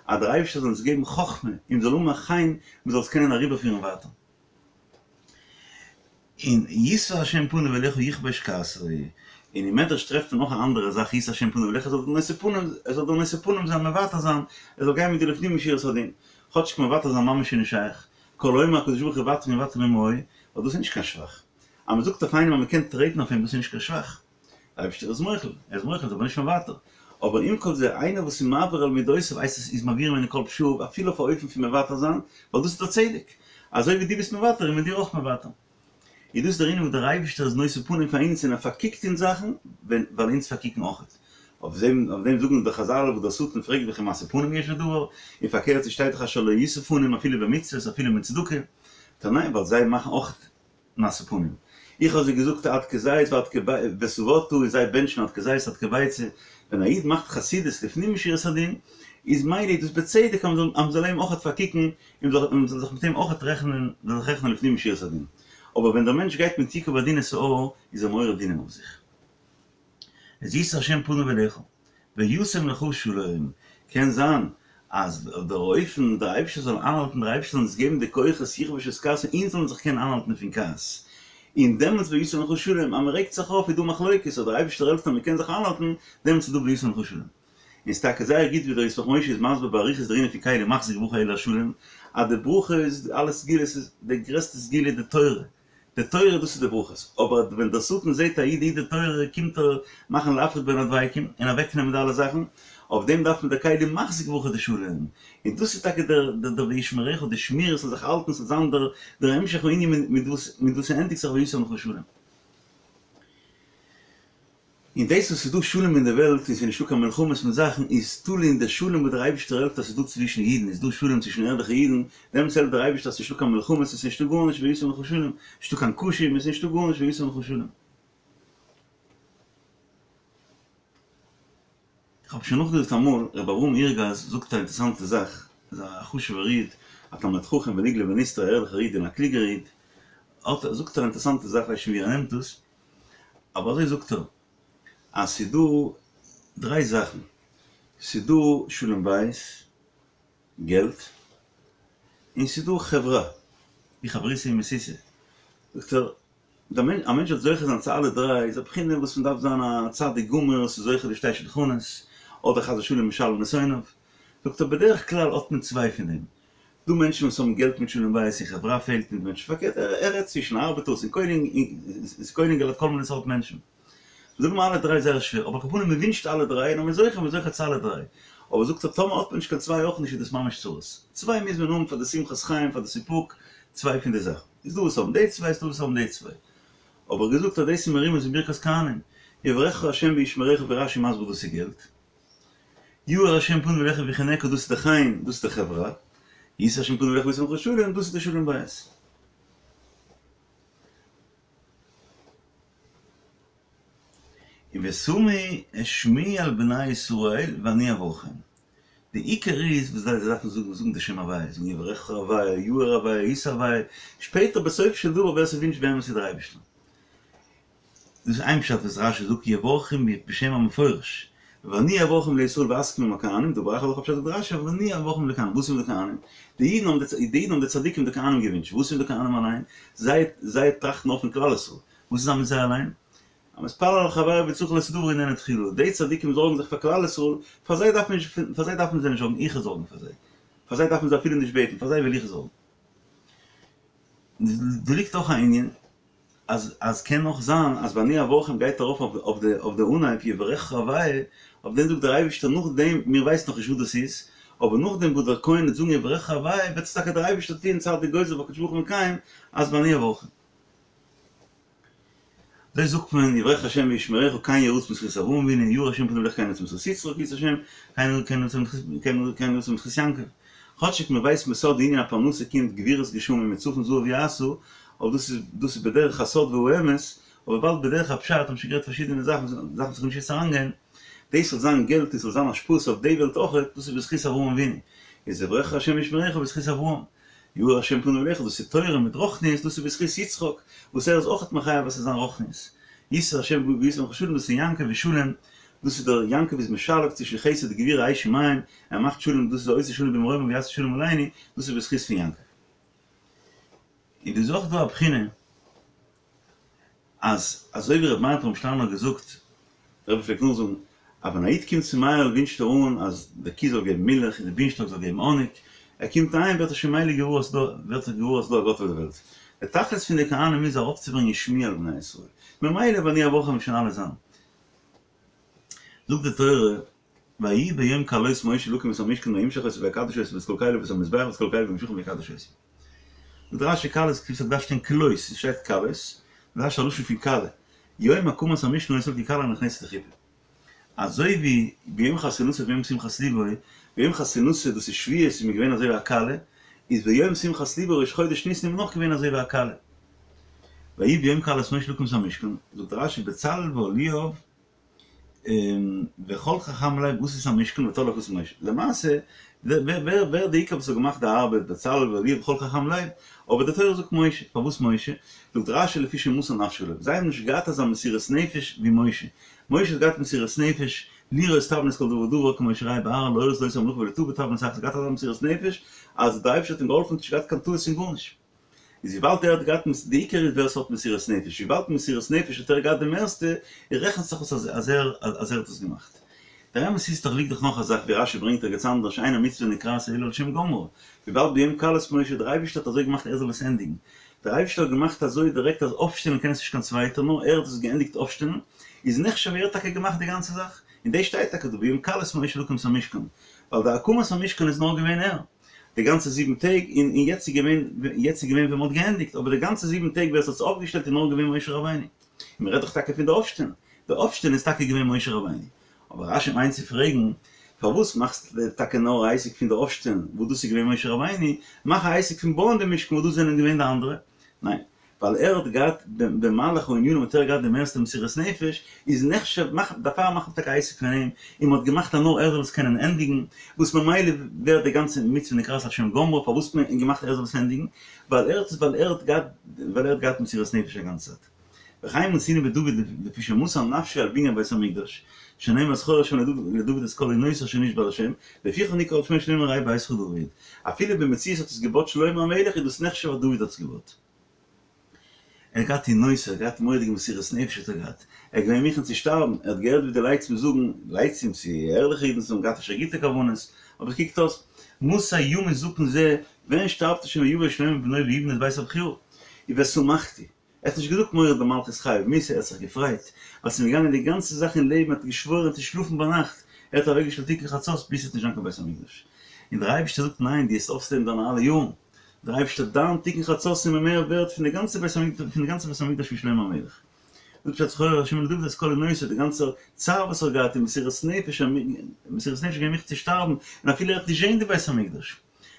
אז דער אייבערשטער זאל אונז געבן חכמה און מ'זאל האבן א חן, מ'זאל עס קענען אריבערפירן ווייטער. און ישא השם פניו אליך יכבוש כעסו, און אין מדרש טרעפט מען נאך א אנדערע זאך ישא השם פניו אליך, ער זאל דיר נושא פנים, ער זאל דיר נושא פנים זיין, מוותר זיין, ער זאל גיין מיט דיר לפנים משורת הדין, כאטשיג מוותר זיין ממש איז נישט שייך, כל האומר הקדוש ברוך הוא ותר יוותר עמו, ווייל דאס איז נישט קיין שבח, אז מ'זאגט אויף איינעם אז מ'קען טרעטן אויף אים דאס איז נישט קיין שבח. דער אייבערשטער איז מוחל, ער איז מוחל, איז אבער נישט מוותר. אבער עם כל זה, איינער וואס איז מעביר על מידותיו הייסט עס איז מעביר ממנו כל פשעיו, אפילו אויף א אופן פון מוותר זיין, ווייל דאס איז דער צדק. אזוי ווי דו ביסט מוותר איז מען דיר אויך מוותר. איז דאס דער ענין וואס דער אייבערשטער איז נושא פנים פאר אונז און ער פארקוקט אונז זאכן, ווייל אונז פארקוקן אויך. אויף דעם אויף דעם זאגן די חזל וואס דער שטן פרעגט וכי משוא פנים יש בדבר, און פארקערט ס'שטייט דאך אשר לא ישא פנים אפילו במצוות אפילו מיט צדקה. טא ניין, ווייל זיי מאכן אויך משוא פנים. איך האב זיי געזאגט עד כזית ועד ושבעת און זיי בענטשן עד כזית עד כביצה. ווען א איד מאכט חסידות לפנים משורת הדין, איז מילא איז דאס בצדק אז מען זאל אים אויכעט פארקוקן און מען זאל זיך מיט אים אויכעט רעכענען, זאל זיך רעכענען לפנים משורת הדין. אבער ווען דער מענטש גייט מיט יקוב הדין את ההר, איז ער מעורר דינים אויף זיך. איז ישא השם פניו אליך וישם לך שלום, קען זיין אז דער אופן דער אייבערשטער זאל איינהאלטן, דער אייבערשטער זאל אונז געבן די כוחות יכבוש את כעסו אונז זאלן זיך קענען איינהאלטן פון כעס, און דעמאלטס וישם לך שלום, אז מען רעגט זיך אויף איז דא מחלוקת, אז דער אייבערשטער העלפט אז מען קען זיך איינהאלטן, דעמאלטס איז דא וישם לך שלום. און ס'איז טאקע זייער גוט ווי דער ישמח משה איז מסביר באריכות דער ענין פון כלי מחזיק ברכה אלא השלום, אז די ברכה איז אלע סגולות איז די גרעסטע סגולה איז די תורה, די תורה דאס איז די ברכות, אבער ווען דער שטן זעט א איד היט די תורה קומט ער מאכן להפריד בין הדבקים און אוועק נעמען די אלע זאכן, אויף דעם דארף מען די כלי מחזיק ברכה די שלום, און דאס איז טאקע דער דער וישמרך די שמירה ס'זאל זיך האלטן ס'זאל זיין דער דער המשך הענין מיט וואס מיט וואס ס'ענדיגט זיך וישם לך שלום. און דאס וואס ס'איז דא שלום אין די וועלט און ס'איז נישטא קיין מלחמות מיט זאכן איז תלוי אין די שלום וואס דער אייבערשטער העלפט אז ס'איז דא צווישן אידן, איז דא שלום צווישן ערליכע אידן, דעמאלטס העלפט דער אייבערשטער אז ס'איז נישטא קיין מלחמות און ס'איז נישטא גארנישט וישם לך שלום, נישטא קיין קשיים און ס'איז נישטא גארנישט וישם לך שלום. איך האב שוין נאכגעזאגט אמאל, ר' אברהם אירגאז זאגט א אינטערעסאנטע זאך, איז א חשוב'ער איד, א תלמיד חכם ונגלה ונסתר, א ערליכער איד און א קלוגער איד, האט ער, זאגט ער א אינטערעסאנטע זאך, כ'ווייס נישט ווי ער נעמט דאס, אבער אזוי זאגט ער, אז ס'איז דא דריי זאכן, ס'איז דא שלום בית, געלט, און ס'איז דא חברה, ווי חברותא ומסיתא, זאגט ער, א מענטש זאל זוכה זיין צו אלע דריי איז א בחינה וואס מען דארף זיין א צדיק גמור ס'איז זוכה לשתי שולחנות, אדער חס ושלום משלם לשונאיו. זאגט ער בדרך כלל האט מען צוויי פון דעם. דא מענטשן וואס האבן געלט מיט שלום בית און חברה פעלט מיט מענטשן פארקערט ער רעדט צווישן ארבעטערס און כולל אינגעלייט כל מיני סארט מענטשן. זאגן מיר אלע דריי זייער שווער אבער על כל פנים מען ווינטשט אלע דריי און אז מען איז זוכה מען איז זוכה צו אלע דריי. אבער זאגט ער טאמער האט מען נישט קיין צוויי אויך נישט איז דאס ממש צרות. צוויי מוז מען האבן פאר די שמחת חיים פאר די סיפוק צוויי פון די זאכן. איז דא וואס האבן די צוויי, איז דא וואס האבן די צוויי. אבער געזאגט אז דאס איז מרומז אין ברכת כהנים, יברכך ה' וישמרך ווי רש"י מסביר דאס איז געלט. יאר ה' פניו אליך ויחנך דאס איז די חן, דאס איז די חברה. ישא ה' פניו אליך וישם לך שלום דאס איז די שלום בית. און ושמו את שמי על בני ישראל ואני אברכם. די עיקר איז וואס זיי דארפן זאגן, זאגן די שם הוויה, זאגן יברכך הוויה, יאר הוויה, ישא הוויה, שפעטער בסוף של דבר ווער ס'ווינטשט באמת איז דער אייבערשטער. דאס איז איין פשט וואס רש"י זאגט יברכם בשם המפורש, ואני אברכם לישראל ואזכיר עם הכהנים, דבר אחר אויך א פשט זאגט רש"י ואני אברכם לכהנים, וואס איז מיט די כהנים? די אידן האבן די אידן האבן די צדיקים די כהנים געווינטשן, וואס איז מיט די כהנים אליין? זיי זיי טראכטן נאר פון כלל ישראל, וואס איז מיט זיי אליין? המתפלל על חברו וצריך לעשות דבר איננו תחילה, די צדיקים זארגן זיך פאר כלל ישראל, פאר זיי דארף מען נישט, פאר זיי דארפן זיי נישט זארגן, איך וועל זארגן פאר זיי, פאר זיי דארפן זיי אפילו נישט בעטן, פאר זיי וועל איך זארגן. דא ליגט אויך א ענין, אז אז קען אויך זיין אז ואני אברכם גייט ארויף אויף די אויף די אנהייב יברכך הוויה, אויף דעם זאגט דער אייבערשטער נאכדעם, מיר ווייסן נאך נישט וואס דאס איז, אבער נאכדעם וואס דער כהן וועט זאגן יברכך הוויה וועט עס טאקע דער אייבערשטער טוען צדיק גוזר והקדוש ברוך הוא מקיים אז ואני אברכם. אזוי זאגט מען, יברכך השם וישמרך כן יהי רצון בזכות אברהם אבינו, יאר השם פניו אליך כן יהי רצון בזכות יצחק, ישא השם, כן יהי רצון בזכות יעקב. כאטשיג מען ווייסט בסוד די ענין הפרנסה קומט גבורות גשמים מצפון זהב יעשה, אבער דאס איז דאס איז בדרך הסוד והאמת, אבער וויבאלד בדרך הפשט האבן שוין גערעדט פארשידענע זאכן דארף מען זיך נישט יעצט אריינגיין, דאס זאל זיין געלט און ס'זאל זיין השפעות אויף די וועלט אויכעט, דאס איז בזכות אברהם אבינו, איז יברכך השם וישמרך בזכות אברהם. יאר השם פניו אליך, דאס איז תורה מיט רוחניות, דאס איז בזכות יצחק, וואס ער איז אויכעט מחייב אז ס'זאל זיין רוחניות. ישא השם וישם לך שלום, דאס איז יעקב ושלום, דאס איז דער יעקב איז משלב צווישן חסד גבורה אש ומים, ער מאכט שלום, דאס איז עושה שלום במרומים ויעשה שלום עלינו, דאס איז בזכות פון יעקב. און דא איז אויך דא א בחינה. אז אזוי ווי רבי מאיר פרעמישלאנער האט געזאגט, דער רבי פלעגט נאכזאגן, אז ווען א איד קומט צום מאיר'ל ווינטשט ער אן אז די קי זאל געבן מילך און די בינשטאק זאל געבן האניג, ער קומט אהיים ווערט ער שוין מילא געוואר אז ס'דא ווערט ער געוואר אז ס'דא א גאט אויף די וועלט. די תכלית פון די כהנים איז ארויפצוברענגען שמי על בני ישראל. ממילא ואני אברכם וועט שוין אלעס זיין. זאגט די תורה, ויהי ביום כלות משה להקים את המשכן וימשח אותו ויקדש אותו ואת כל כליו ואת המזבח ואת כל כליו וימשחם ויקדש אותם. זאגט רש"י כלות כתיב ס'דארף שטיין כלות, עס שטייט כלות, זאגט רש"י א לשון פון כלה, יום הקמת המשכן היתה ככלה הנכנסת לחופה. אזוי ווי ביום חתונתו וביום שמחת לבו, ביום חתונתו דאס איז שבועות איז מען געווען אזוי ווי א כלה, איז ביום שמחת לבו ראש חודש ניסן איז מען נאך געווען אזוי ווי א כלה. ויהי ביום כלות משה להקים את המשכן, זאגט רש"י בצלאל ואהליאב וכל חכם לב עשו את המשכן ותולו הכתוב משה. למעשה, ווער ווער די עיקר וואס האט געמאכט די ארבעט, בצלאל ואהליאב וכל חכם לב, אבער די תורה זאגט משה, פארוואס משה? זאגט רש"י לפי שמסר נפשו עליו, זיי האבן נישט געהאט אזא מסירות נפש ווי משה, משה האט געהאט מסירות נפש, לראות תבנית כל דבר ודבר כמו שראה בהר להורות לו את המלאכה ולא טעה בתבנית אחת, געהאט אזא מסירות נפש אז די אייבערשטער האט אים געהאלפן, נישט געהאט קיין טעות אין גארנישט. איז וויבאלד ער האט געהאט די עיקר איז ווער ס'האט מסירות נפש, וויבאלד מסירות נפש האט ער געהאט די מערסטע, רעכנט זיך אויס אז ער אז ער האט עס געמאכט. דער אמת איז דאך ליגט דאך נאך א זאך ווי רש"י ברענגט ערגעץ אנדערש אין המצוה נקראת אלא על שם גומרה, וויבאלד ביום כלות משה דער אייבערשטער האט אזוי געמאכט ער זאל עס ענדיגן, דער אייבערשטער האט געמאכט אזוי דירעקט אז אויפשטעלן קען עס נישט קיין צווייטער נאר ער האט עס געענדיגט אויפשטעלן, איז נחשב ווי ער האט טאקע געמאכט די גאנצע זאך, און דאס שטייט טאקע דא ביום כלות משה להקים את המשכן, ווייל די הקמת המשכן איז נאר געווען ער. די גאנצע זיבן טעג, און און יעצט איז געווען, יעצט איז געווען ווען מ'האט געענדיגט, אבער די גאנצע זיבן טעג ווער עס האט עס אויפגעשטעלט איז נאר געווען משה רבינו. און מ'רעדט דאך טאקע פון די אויפשטעלן. די אויפשטעלן איז טאקע געווען משה רבינו. אבער רשי מיינט צו פרעגן, פארוואס מאכסטו טאקע נאר א עסק פון די אויפשטעלן וואס דאס איז געווען משה רבינו, מאך א עסק פון בויען די משכן וואס דאס זענען געווען די אנדערע? ניין, ווייל ער האט געהאט במהלך הענינים האט ער געהאט די מערסטע מסירות נפש, איז נחשב, דערפאר מאכט מען טאקע א עסק פון אים, און מען האט געמאכט אז נאר ער זאל עס קענען ענדיגן, וואס ממילא ווערט די גאנצע מצוה נקראת על שם גומרה, פארוואס האט מען געמאכט ער זאל עס ענדיגן? ווייל ער האט ווייל ער האט געהאט ווייל ער האט געהאט מסירות נפש א גאנצע צייט. וכן מצינו בדוד לפי שמסר נפשו על בנין בית המקדש, שנאמר זכור ה' לדוד את כל עונות אשר נשבע לה', לפיכך נקרא על שמו שנאמר ראה ביתך דוד. אפילו במציאות האט עס געבויט שלמה המלך איז דאס נחשב אז דוד האט עס געבויט. ער האט געהאט עונות, ער האט געהאט מורא'דיגע מסירות נפש האט ער געהאט, ער איז געווען מוכן צו שטארבן, ער האט געהערט ווי די לייצים זאגן, לייצים צו ערליכע אידן וואס האבן געהאט אפשר גוטע כוונות, אבער עס קוקט אויס, מתי ימות זקן זה, ווען שטארבט ער שוין ויבא שלמה בנו ויבנה את בית הבחירה, ושמחתי. ער האט נישט געזאגט מורד במלכות חייב מיתה, ער האט זיך געפרייט ווייל ס'איז אים געגאנגען די גאנצע זאך אין לעבן, ער האט געשוואוירן צו שלאפן ביינאכט, ער האט אוועקגעשטעלט תיקון חצות ביז ס'וועט נישט זיין קיין בית המקדש. און דער אייבערשטער זאגט ניין דו וועסט אויסלעבן דיינע אלע יארן, דער אייבערשטער דיין תיקון חצות איז מיר מער ווערט פון די גאנצע בית המקדש פון די גאנצע בית המקדש פון שלמה המלך. זאגט פשט זכור ה' לדוד את כל עונותיו די גאנצע צער וואס ער האט געהאט און מסירות נפש, מסירות נפש געווען מוכן צו שטארבן און אפילו ער וועט נישט זען די בית המקדש.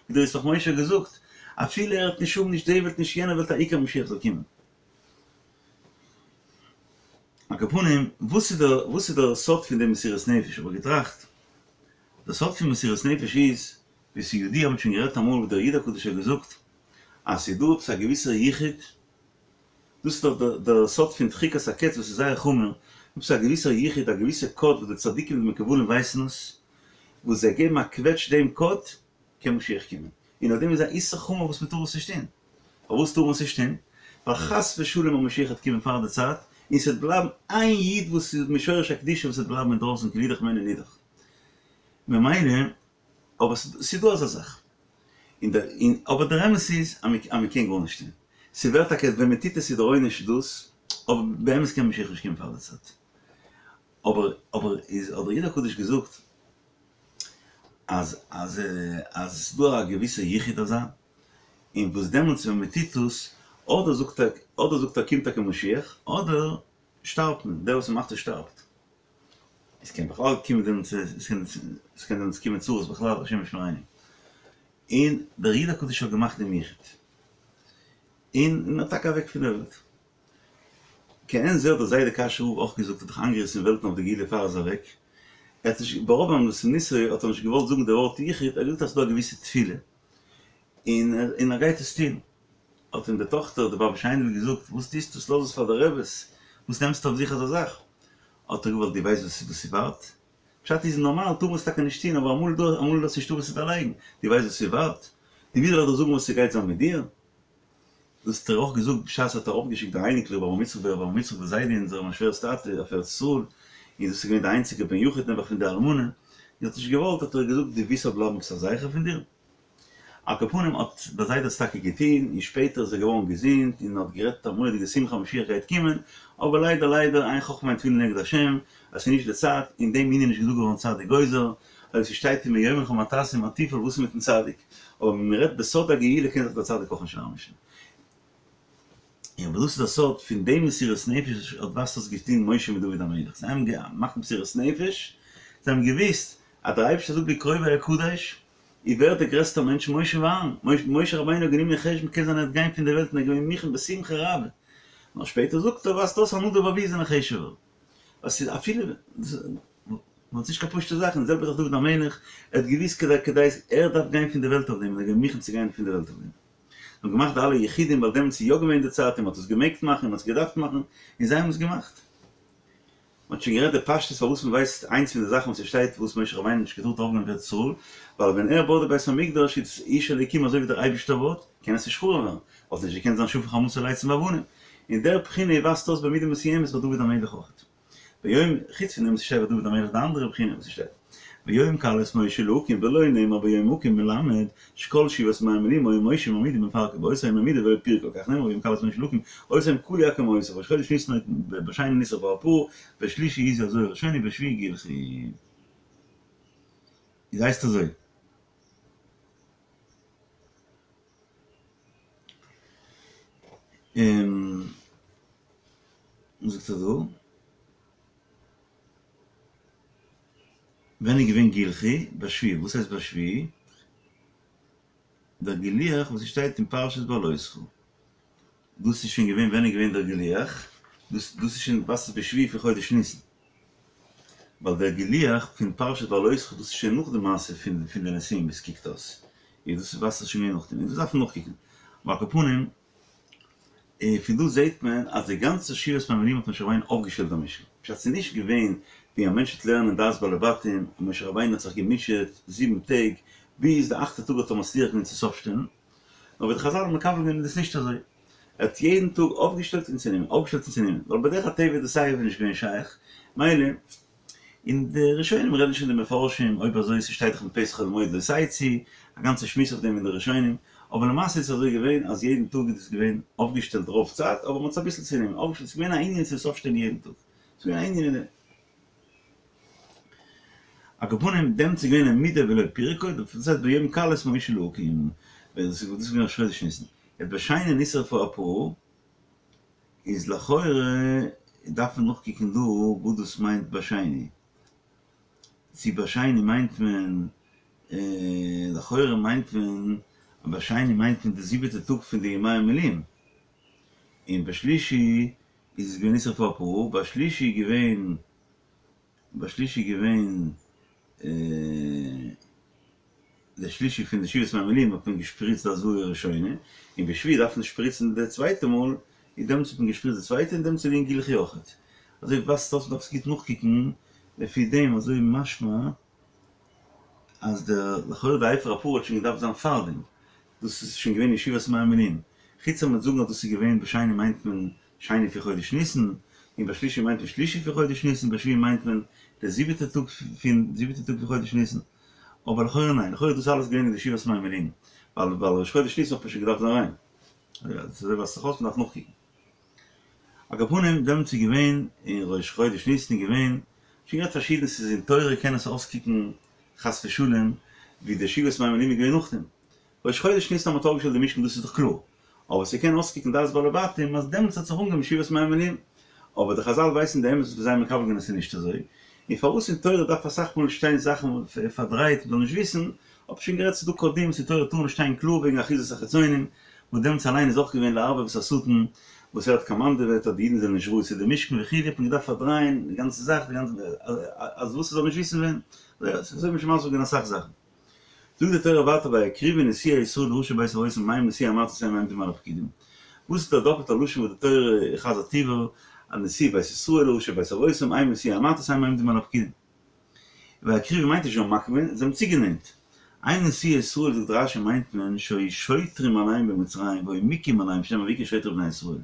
ווי דער ישמח משה האט געזאגט, אפילו ער וועט נישט האבן נישט די וועלט נישט יענע וועלט א עיקר משיח זאל קומען. על כל פנים, וואס איז דער וואס איז דער סוד פון די מסירות נפש? האב איך געטראכט, דער סוד פון מסירות נפש איז, ווי ס'איז ידוע, מ'האט שוין גערעדט אמאל ווי דער איד הקדוש האט געזאגט, אז ס'איז דא עפעס א געוויסער יחוד, דאס איז דאך דער סוד פון דחיקת הקץ וואס איז זייער חמור, עפעס א געוויסער יחוד, א געוויסע קאוד וואס די צדיקים און די מקובלים ווייסן עס, וואס זיי געבן א קוועטש דעם קאוד, קען משיח קומען. און אויף דעם איז א איסור חמור וואס מען טאר עס נישט טון. פארוואס טאר מען עס נישט טון? ווייל חס ושלום אז משיח וועט קומען פאר די צייט, און ס'וועט בלייבן איין איד וואס איז משורש הקדושה וואס וועט בלייבן אינדרויסן כי נידח ממנו נידח. ממילא אבער ס'איז דא אזא זאך. און דער און אבער דער אמת איז אז מען קען גארנישט טון. ס'ווערט טאקע ווען מען טוט עס איז דער עונש דאס, אבער באמת קען משיח נישט קומען פאר די צייט. אבער אבער איז האט דער איד הקדוש געזאגט אז אז אז ס'איז דא א געוויסע יחוד אזא, און וואס דעמאלטס ווען מען טוט דאס, אדער זאגט ער אדער זאגט ער קומט טאקע משיח, אדער שטארבט מען, דער וואס מ'מאכט עס שטארבט. עס קען בכלל קומען דעמאלטס עס קען דעמאלטס קומען צרות בכלל השם ישמרינו. און דער איד הקדוש האט געמאכט דעם יחוד. און ער איז טאקע אוועק פון דער וועלט. כעין זה האט דער זיידע קאשוי רב אויך געזאגט האט דאך איינגעריסן וועלטן אויף די גאולה פאר ער איז אוועק. ער האט נישט ברוב ענוותנותו האט ער נישט געוואלט זאגן די ווארט יחוד, ער האט געזאגט אז ס'איז דא א געוויסע תפילה און און ער גייט עס טון. האט אים די טאכטער די באבע שיינדל געזאגט וואס טוסטו עס לאז עס פאר די רעבעס, וואס נעמסטו אויף זיך אזא זאך? האט ער געוואלט דו ווייסט וואס וואס ס'ווארט? פשט איז נארמאל טאר מען עס טאקע נישט טון אבער אמאל דא אמאל איז נישטא וואס צו דערלייגן, דו ווייסט וואס ס'ווארט? דו ווי זאל איך דיר זאגן וואס ס'גייט זיין מיט דיר? דאס האט ער אויך געזאגט בשעת ער האט ארויפגעשיקט די אייניקלעך רבי אברהם יצחק רבי אברהם יצחק די זיידע אונזערע מיין שווער'ס טאטע אויף ארץ ישראל, און דאס איז געווען די איינציגע בן יחיד נעבעך פון די אלמנה, זי האט נישט געוואלט האט ער געזאגט דו ווילסט ס'זאל בלייבן עפעס א זכר פון דיר? על כל פנים האט דער זיידע עס טאקע געטון, און שפעטער איז ער געווארן געזונט און האט גערעדט א מורא'דיגע שמחה משיח גייט קומען, אבער ליידער ליידער אין חכמה ואין תבונה לנגד השם, אז ס'איז נישט די צייט, אין דעם ענין איז נישט געזאגט געווארן צדיק גוזר, אויב ס'שטייט אם יאמרו לך מה תעשה מה תפעל וואס איז מיטן צדיק, אבער ווען מ'רעדט בסוד הגאולה קען זיך דער צדיק אויך נישט אריינמישן. און אבער דאס איז דער סוד פון דעם מסירות נפש האט וואס האט געטון משה מיט דוד המלך, זיי האבן געמאכט מסירות נפש, זיי האבן געוואוסט אז דער אייבערשטער זאגט בקרובי אקדש, איז ווער דער גרעסטער מענטש משה ואהרן, משה רבינו האט גענומען אין חשבון קען זיין ער וועט גיין פון די וועלט און ער איז געווען מוכן בשמחה רבה, נאר שפעטער זאגט ער ווייזט אויס אז נדב ואביהוא זענען חשוב'ער, ווייל ס'איז אפילו ווייל ס'איז נישט קיין פשוטע זאך, און די זעלבע זאך דוד המלך, ער האט געוואוסט כדי כדי ער דארף גיין פון די וועלט אויף דעם און ער איז געווען מוכן צו גיין פון די וועלט אויף דעם. זיי האבן געמאכט די אלע יחודים ווייל דעמאלטס איז יא געווען די צייט און מ'האט עס געמעגט מאכן און מ'האט עס געדארפט מאכן און זיי האבן עס געמאכט. מ'האט שוין גערעדט די פשטות פארוואס מ'ווייסט איינס פון די זאכן וואס ס'שטייט וואס משה רבינו האט נישט געטארט ארויפגיין אויף ארץ ישראל, ווייל ווען ער בויט די בית המקדש איז איש אלוקים אזוי ווי דער אייבישטער בויט, קען עס נישט חרוב ווערן, וואלט נישט געקענט זיין שפך חמתו לייצים ואבנים. און דער בחינה ווייזט אויס במידה מסוימת ביי דוד המלך אויך. ביום, חוץ פון דעם וואס ס'שטייט ביי דוד המלך די אנדערע בחינה וואס ס'שטייט ביום כלות משה להקים ולא נאמר ביום הקם מלמד שכל שבעת ימי המילואים היה משה מעמידה ומפרקה באותו היום העמידו ולא פירקה כך נאמר ביום כלות משה להקים אותו היום כלו הקמותיו בראש חודש ניסן בשני נשרף פר בשלישי הזו הזועה הראשונה בשביעי גלחו. איז הייסט אזוי. און וואס זאגט ער דא? ווען איז געווען גילחו? בשביעי. וואס הייסט בשביעי? דער גילוח וואס שטייט אין פרשת בהעלותך. דאס איז שוין געווען ווען איז געווען דער גילוח? דאס דאס איז שוין וואס איז בשביעי פון חודש ניסן. ווייל דער גילוח פון פרשת בהעלותך דאס איז שוין נאך די מעשה פון פון די נשיאים ווי עס קוקט אויס. איז דאס וואס איז שוין געווען נאכדעם. און דאס דארף מען נאכקוקן. אבער על כל פנים. און פון דא זעהט מען אז די גאנצע שבעת ימי המילואים האט משה רבינו אויפגעשטעלט דעם משכן. פשט ס'איז נישט געווען ווי א מענטש וועט לערנען דעת בעלי בתים און משה רבינו האט זיך געמוטשעט זיבן טעג ביז די אכטע טאג האט ער מצליח געווען צו עס אויפשטעלן. נאר ווי די חזל האבן מקבל געווען איז דאס נישט אזוי. ער האט יעדן טאג אויפגעשטעלט און צונומען, אויפגעשטעלט און צונומען. ווייל בדרך הטבע איז דאס סייווי נישט געווען שייך. מילא. און די ראשונים רעדן שוין די מפרשים אויב אזוי ס'שטייט דאך מפתח אוהל מועד לא תצאו, א גאנצע שמועס אויף דעם אין די ראשונים, אבער למעשה איז עס אזוי געווען אז יעדן טאג איז עס געווען אויפגעשטעלט רוב צייט אבער מ'האט עס אביסל צונומען אויפגעשטעלט, ס'איז געווען א ענין צו עס אויפשטעלן יעדן טאג, ס'איז געווען א ענין אין דעם. על כל פנים דעמאלטס איז געווען העמידו ולא פירקו, דאס הייסט ביום כלות משה להקים, דאס איז געווען ראש חודש ניסן, יעצט בשני נשרפה הפרה. איז לכאורה דארף מען נאכקוקן דא וואס דאס מיינט בשני. צו בשני מיינט מען, לכאורה מיינט מען אז בשני מיינט מען די זיבעטע טאג פון די ימי המילואים, און בשלישי איז עס געווען נשרפה הפרה, בשלישי איז געווען, בשלישי איז געווען. די שלישי פון די שבעת ימי המילואים האט מען געשפריצט די הזאה הראשונה, און בשביעי דארף מען שפריצן די צווייטע מאל, און דעמאלטס האט מען געשפריצט די צווייטע און דעמאלטס איז געווען גילחו אויכעט. אזוי ווייזט אויס מ'דארף עס גוט נאכקוקן, לפי דעם אזוי משמע אז דער לכאורה די אפר הפרה האט שוין געדארפט זיין פארדעם, דאס איז שוין געווען אין שבעת ימי המילואים, חוץ אז מ'וועט זאגן אז דאס איז געווען בשני מיינט מען שני פון חודש ניסן, און בשלישי מיינט מען שלישי פון חודש ניסן, בשביעי מיינט מען די זיבעטע טאג פון זיבעטע טאג פון חודש ניסן. אבער לכאורה ניין, לכאורה איז דאס אלעס געווען אין די שבעת ימי המילואים, ווייל ווייל ראש חודש ניסן האט מען שוין געדארפט זיין ריין. אזוי ווייזט זיך אויס, מ'דארף נאכקוקן. על כל פנים, דעמאלטס איז געווען אין ראש חודש ניסן איז געווען, שוין גערעדט פארשידענס ס'איז אין תורה קען עס אויסקוקן חס ושלום ווי די שבעת ימי המילואים איז געווען נאכדעם. ראש חודש ניסן האט מען אויפגעשטעלט די משכן דאס איז דאך קלאר, אבער ס'קען אויסקוקן דעת בעלי בתים אז דעמאלטס האט זיך אנגעהויבן שבעת ימי המילואים, אבער די חזל ווייסן די אמת וואס זיי האבן מקבל געווען אז ס'איז נישט אזוי, און פארוואס אין תורה דארף אסאך מאל שטיין זאכן פארדרייט מ'זאל נישט וויסן, האב איך שוין גערעדט ס'איז דא קדים אין תורה טאר נישט שטיין קלאר וועגן אחיזת החיצונים, וואס דעמאלטס אליין איז אויך געווען לערבב את השטן וואס ער האט קאמאנדעוועט אז די אידן זענען נישט ראוי צו די משכן וכו' האט מען געדארפט פארדרייען די גאנצע זאך די גאנצע אז וואס ס'זאל נישט וויסן ווען, אזוי האט מען שוין מסביר געווען אסאך זאכן. זאגט די תורה ווייטער ויקריבו נשיאי ישראל וראשי בית אבותם הם נשיאי המטות הם העומדים על הפקודים. וואס איז דער דאפעלטער לשון וואס די תורה חזר'ט איבער אז נשיאי בית ישראל וראשי בית אבותם הם נשיאי המטות הם העומדים על הפקודים. ויקריבו מיינט נישט זיי האבן מקריב געווען, זיי האבן צוגענענט. הם נשיאי ישראל זאגט רשי מיינט מען שהיו שוטרים עליהם במצרים והיו מכים עליהם שנאמר ויכו שוטר את בני ישראל.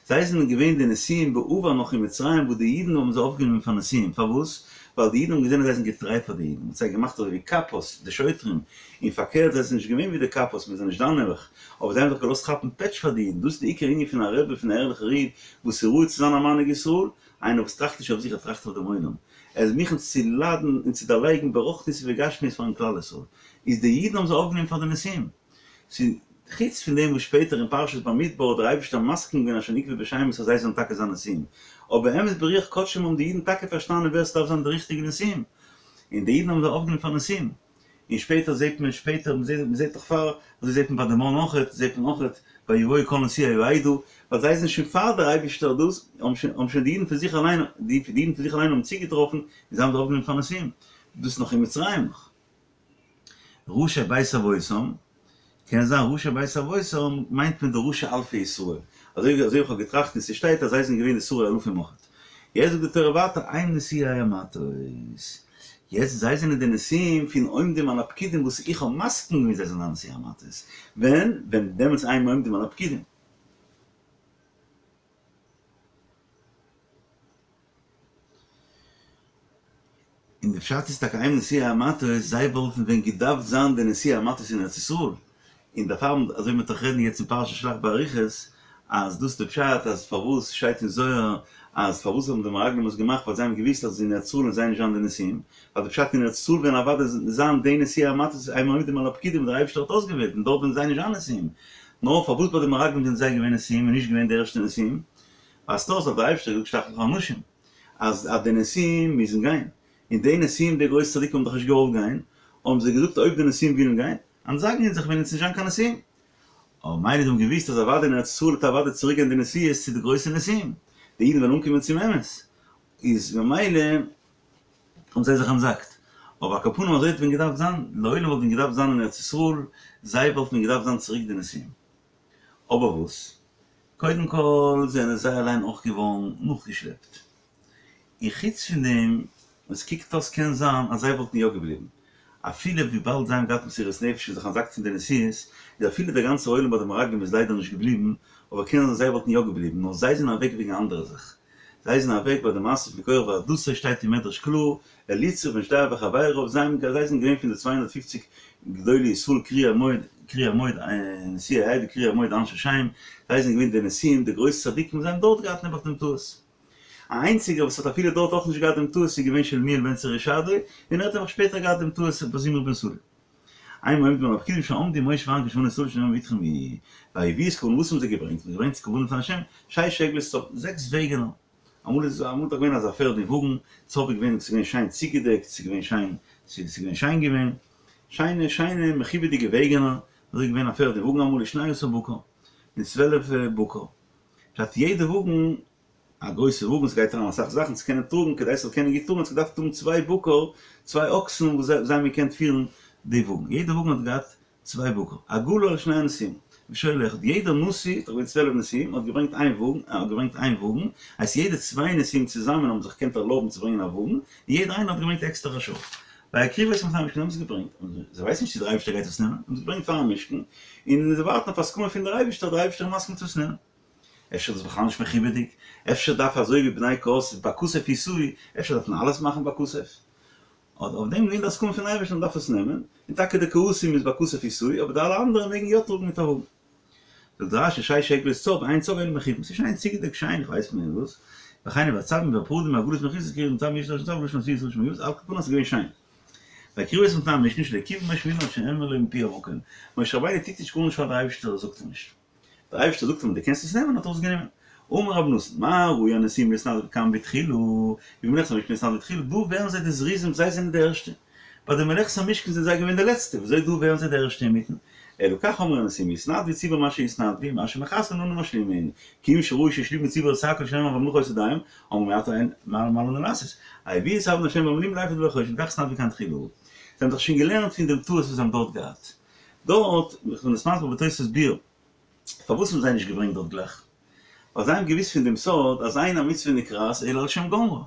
זיי זענען געווען די נשיאים בעבר נאך אין מצרים וואס די אידן האבן זיי אויפגענומען פאר נשיאים, פארוואס? ווייל די אידן האבן געזען אז זיי זענען געטריי פאר די אידן, מען האט זיי געמאכט אזוי ווי קאפאס, די שוטרים, און פארקערט זיי זענען נישט געווען ווי די קאפאס, מיר זענען נישט דיין נעבעך, אבער זיי האבן זיך געלאזט כאפן פעטש פאר די אידן, דאס איז די עיקר ענין פון א רבי, פון א ערליכער איד, וואס איז ראוי צו זיין א מנהיג ישראל, איינער וואס טראכט נישט אויף זיך ער טראכט אויף דעם עולם, ער איז מוכן צו ליידן און צו דערלייגן ברוחניות ובגשמיות פארן כלל ישראל, איז די אידן האבן זיי אויפגענומען פאר די נשיאים. ס'איז חוץ פון דעם וואס שפעטער אין פרשת במדבר האט דער אייבערשטער מסכים געווען אשר נקבו בשמות אז זיי זאלן טאקע זיין נשיאים, אבער באמת ברוח קדשם האבן די אידן טאקע פארשטאנען ווער ס'דארף זיין די ריכטיגע נשיאים, און די אידן האבן זיי אויפגענומען פאר נשיאים. און שפעטער זעט מען שפעטער מ'זעט דאך פאר, אזוי זעט מען ביי די מן אויכעט, זעט מען אויכעט ויבואו כל נשיאי העדה, ווייל זיי זענען שוין פאר דער אייבערשטער דאס, האבן שוין האבן שוין די אידן פון זיך אליין, די אידן פון זיך אליין האבן צוגעטראפן און זיי האבן זיי אויפגענומען פאר נשיאים, דאס נאך אין מצרים נאך. ראשי בית אבותם, קען זיין ראשי בית אבותם מיינט מען די ראשי אלפי ישראל, אזוי ווי אזוי איך האב געטראכט און ס'שטייט אז זיי זענען געווען די שרי אלפים אויכעט. יעצט זאגט די תורה ווייטער הם נשיאי המטות, יעצט זיי זענען די נשיאים פון עומדים על הפקודים וואס איך האב מסכים געווען זיי זאלן זיין נשיאי המטות, ווען? ווען דעמאלטס הם עומדים על הפקודים. און די פשט איז טאקע הם נשיאי המטות, זיי וואלטן ווען געדארפט זיין די נשיאי המטות אין ארץ ישראל, און דערפאר אזוי ווי מ'וועט דאך רעדן יעצט אין פרשת שלח באריכות, אז דאס איז די פשט אז פארוואס שטייט אין זוהר אז פארוואס האבן די מרגלים עס געמאכט ווייל זיי האבן געוואוסט אז אין ארץ ישראל וועלן זיי נישט זיין די נשיאים, ווייל די פשט אין ארץ ישראל וועלן אוודאי זיין די נשיאי המטות הם העומדים על הפקודים וואס דער אייבערשטער האט אויסגעוועלט און דארט וועלן זיי נישט זיין נשיאים, נאר פארוואס ביי די מרגלים זענען זיי געווען נשיאים און נישט געווען די ערשטע נשיאים? ווייזט אויס אז דער אייבערשטער האט געזאגט שלח לך אנשים אז אז די נשיאים מוזן גיין. און די נשיאים די גרויסע צדיקים האבן דאך נישט געוואלט גיין, האבן זיי געזאגט אויב די נשיאים ווילן גיין, אנטזאגן אונז זיך וועלן אונז נישט זיין קיין נשיאים. אבער מילא זיי האבן געוואוסט אז אוודאי אין ארץ ישראל וועט אוודאי צוריק גיין די נשיאות צו די גרויסע נשיאים, די אידן וועלן אנקומען צום אמת, איז ממילא האבן זיי זיך אנטזאגט. אבער על כל פנים אזוי האט ווען געדארפט זיין, לעולם וואלט ווען געדארפט זיין אין ארץ ישראל, זיי וואלטן ווען געדארפט זיין צוריק די נשיאים. אבער וואס? קודם כל זענען זיי אליין אויך געווארן נאכגעשלעפט. און חוץ פון דעם וואס קוקט אויס קען זיין אז זיי וואלטן יא געבליבן אפילו וויבאלד זיי האבן געהאט מסירות נפש און זיך אנטזאגט פון די נשיאות, איז אפילו דער גאנצער עולם ביי די מרגלים איז ליידער נישט געבליבן, אבער קען זיין זיי וואלטן יא געבליבן, נאר זיי זענען אוועק וועגן א אנדערע זאך. זיי זענען אוועק ביי די מעשה פון קורח ועדתו שטייט אין מדרש קלאר, אליצור בן שדיאור וחבריו, זיי האבן זיי זענען געווען פון די 250 גדולי ישראל קריאי המועד, קריאי המועד, נשיאי העדה קריאי המועד אנשי שם, זיי זענען געווען די נשיאים, די גרויסע צדיקים, זיי האבן דארט געהאט נעבעך דעם טעות. א איינציגער וואס האט אפילו דארט אויך נישט געהאט דעם טעות איז געווען שלומיאל בן צורישדי, און ער האט נעבעך שפעטער געהאט דעם טעות ביי זמרי בן סלוא. אין העומדים על הפקודים שעמדו משה ואהרן כשמנו ישראל שנאמר ואתכם יהיו. ויביאו את קרבנם וואס האבן זיי געברענגט? מ'האט געברענגט קרבנות פאר השם, שש עגלות צב, זעקס וועגענער. אמאל איז אמאל דאך געווען אזא פערד און וואגן, צב איז געווען ס'איז געווען שיין צוגעדעקט, ס'איז געווען שיין, ס'איז געווען שיין געווען, שיינע שיינע מכובד'יגע וועגענער, אזוי איז געווען א פערד און וואגן אמאל ושנים עשר בקר, און 12 בקר. פשט יעדע וואגן א גרויסע וואגן ס'גייט אריין אסאך זאכן צו קענען טראגן כדי ס'זאל קענען גוט טראגן האט עס געדארפט האבן צוויי בקר צוויי אקסן וואס זיי האבן געקענט פירן די וואגן יעדע וואגן האט געהאט צוויי בקר עגלה על שני הנשיאים ושור אחד יעדער נשיא ס'איז געווען 12 נשיאים האט געברענגט איין וואגן האט געברענגט איין וואגן הייסט יעדע צוויי נשיאים צוזאמען האבן זיך געקענט ערלויבן צו ברענגען א וואגן און יעדער איינער האט געברענגט עקסטער א שור ויקריבו אותם לפני המשכן האבן עס געברענגט און זיי ווייסן נישט צו דער אייבערשטער גייט עס נעמען האבן עס געברענגט פארן משכן און זיי ווארטן אויף הסכמה פון דער אייבערשטער דער אייבערשטער איז מסכים צו עס נעמען. אפשר איז דאס בכלל נישט מכובד'יג, אפשר דארף אזוי ווי בני קהת בכסף ישאו, אפשר דארף מען אלעס מאכן בכסף. אט אויף דעם געווען די הסכמה פון אייבערשטן מען דארף עס נעמען, און טאקע די קהתים איז בכסף ישאו, אבער די אלע אנדערע מעגן יא טראגן מיט א וואגן. זאגט רש"י שש עגלות צב, אין צב אלא מכובד, ס'איז שיין צוגעדעקט שיין, איך ווייס נישט וואס, וכן והצבים והפרדים והעגלות מכוסות קרי צב יש לשון צב לשון עשויות לשון מכובד, על כל פנים ס'איז געווען שיין. ויקריבו אותם לפני המשכן שלא כיוון משה מידם עד שנאמר לו מפי המקום, משה רבינו טוט נישט גארנישט פאר די אייבערשטער זאגט אים נישט. דער אייבערשטער זאגט אים דו קענסט עס נעמען האט ער עס גענומען. אמר רבי נתן, מה ראו הנשיאים להתנדב כאן בתחילה, ובמלאכת המשכן להתנדב בתחילה, דא ווערן זיי די זריזים זיי זענען די ערשטע, ביי די מלאכת המשכן זענען זיי געווען די לעצטע, וויאזוי דא ווערן זיי די ערשטע אינמיטן? אלא כך אמרו הנשיאים, יתנדבו ציבור מה שיתנדבו, מה שמחסרין אנו משלימין, כיוון שראו שהשלימו ציבור את הכל שנאמר והמלאכה היתה דים, אמרו מעתה מה לנו לעשות, הביאו את אבני ה' והמילואים לאפוד ולחושן, כך התנדבו כאן תחילה. זיי האבן דאך שוין געלערנט פון דעם טעות וואס זיי האבן דארט געהאט. דארט, איך בין עס מסביר בתוספות ביאור, פארוואס האבן זיי נישט געברענגט דארט גלייך? ווייל זיי האבן געוואוסט פון דעם סוד אז אין המצוה נקראת אלא על שם גומרה.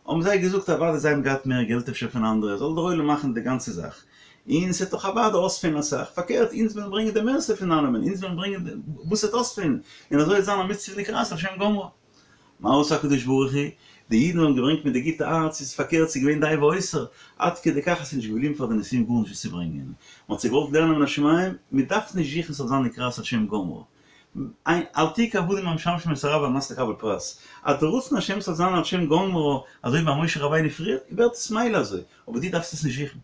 האבן זיי געזאגט אוודאי זיי האבן געהאט מער געלט אפשר פון אנדערע, זאל דער עולם מאכן די גאנצע זאך, און ס'וועט דאך אוודאי אויספעלן אסאך, פארקערט אונז וועלן ברענגען די מערסטע פון אלעמען, אונז וועלן ברענגען וואס ס'וועט אויספעלן, און אזוי וועט זיין א מצוה נקראת על שם גומרה. מה עשה הקדוש ברוך הוא? די אידן האבן געברענגט מיט די גוטע הארץ, איז פארקערט ס'איז געווען די והותר, עד כדי כך אז ס'איז נישט געבליבן פאר די נשיאים גארנישט וואס צו ברענגען, מען האט זיי געוואלט לערנען מן השמים, מען דארף נישט זוכן ס'זאל זיין נקראת על שם גומרה, אל תהיו כעבדים המשמשים את הרב על מנת לקבל פרס, אז די רצון השם ס'זאל זיין על שם גומרה, אזוי ווי ביי משה רבינו פריער, ווערט עס מילא אזוי, אבער דו דארפסט עס נישט זוכן.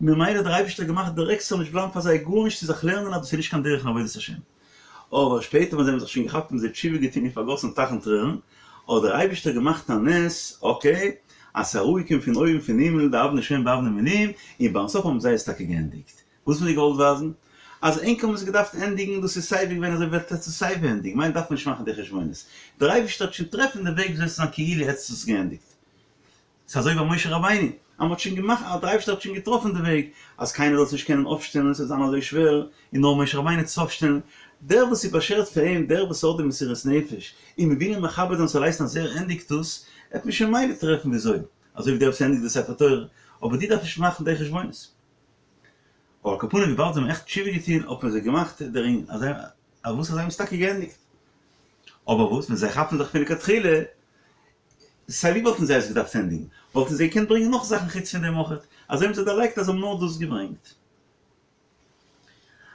ממילא האט דער אייבערשטער געמאכט דירעקט ס'זאל נישט בלייבן פאר זיי גארנישט צו זיך לערנען אז דאס איז נישט קיין דרך אין עבודת השם. אבער שפעטער ווען זיי האבן זיך שוין געכאפט האבן זיי תשובה געטון און פארגאסן טייכן טרערן, האט דער אייבערשטער געמאכט א נס, אקעי, אז ס'איז אראפגעקומען פון אויבן פון הימל די אבני שוהם באבני מילואים, און ביים סוף האבן זיי עס טאקע געענדיגט. וואס האט מען געוואלט ווייזן? אז ענק האבן עס געדארפט ענדיגן, דאס איז סייווי געווען אזוי וועט עטס עס סייווי ענדיגן, מילא דארף מען נישט מאכן די חשבונות. דער אייבערשטער וועט שוין טרעפן די וועג וויאזוי עס זאל זיין כאילו עטס האט עס געענדיגט. ס'איז אזוי ביי משה רבינו, אז מ'האט שוין געמאכט, אז דער אייבערשטער האט שוין געטראפן די וועג, אז קיינער זאל עס נישט קענען אויפשטעלן, עס וועט זיין אזוי שווער, און נאר משה רבינו וועט עס אויפשטעלן. דער וואס איז באשערט פאר אים, דער וואס האט די מסירות נפש, און מ'וויל אים מכבד זיין ס'זאל הייסן אז ער ענדיגט דאס, וועט מען שוין מילא טרעפן וויאזוי, אזוי ווי דער וואס ענדיגט די ספר תורה, אבער דו דארפסט נישט מאכן די חשבונות. אבער על כל פנים וויבאלד זיי האבן עכט תשובה געטון האט מען זיי געמאכט דערין, אז וואס אז זיי האבן עס טאקע געענדיגט. אבער וואס ווען זיי כאפן זיך פון לכתחילה, סיי ווי וואלטן זיי עס געדארפט ענדיגן, וואלטן זיי געקענט ברענגען נאך זאכן חוץ פון דעם אויכעט, אזוי האבן זיי דערלייגט אז זיי האבן נאר דאס געברענגט.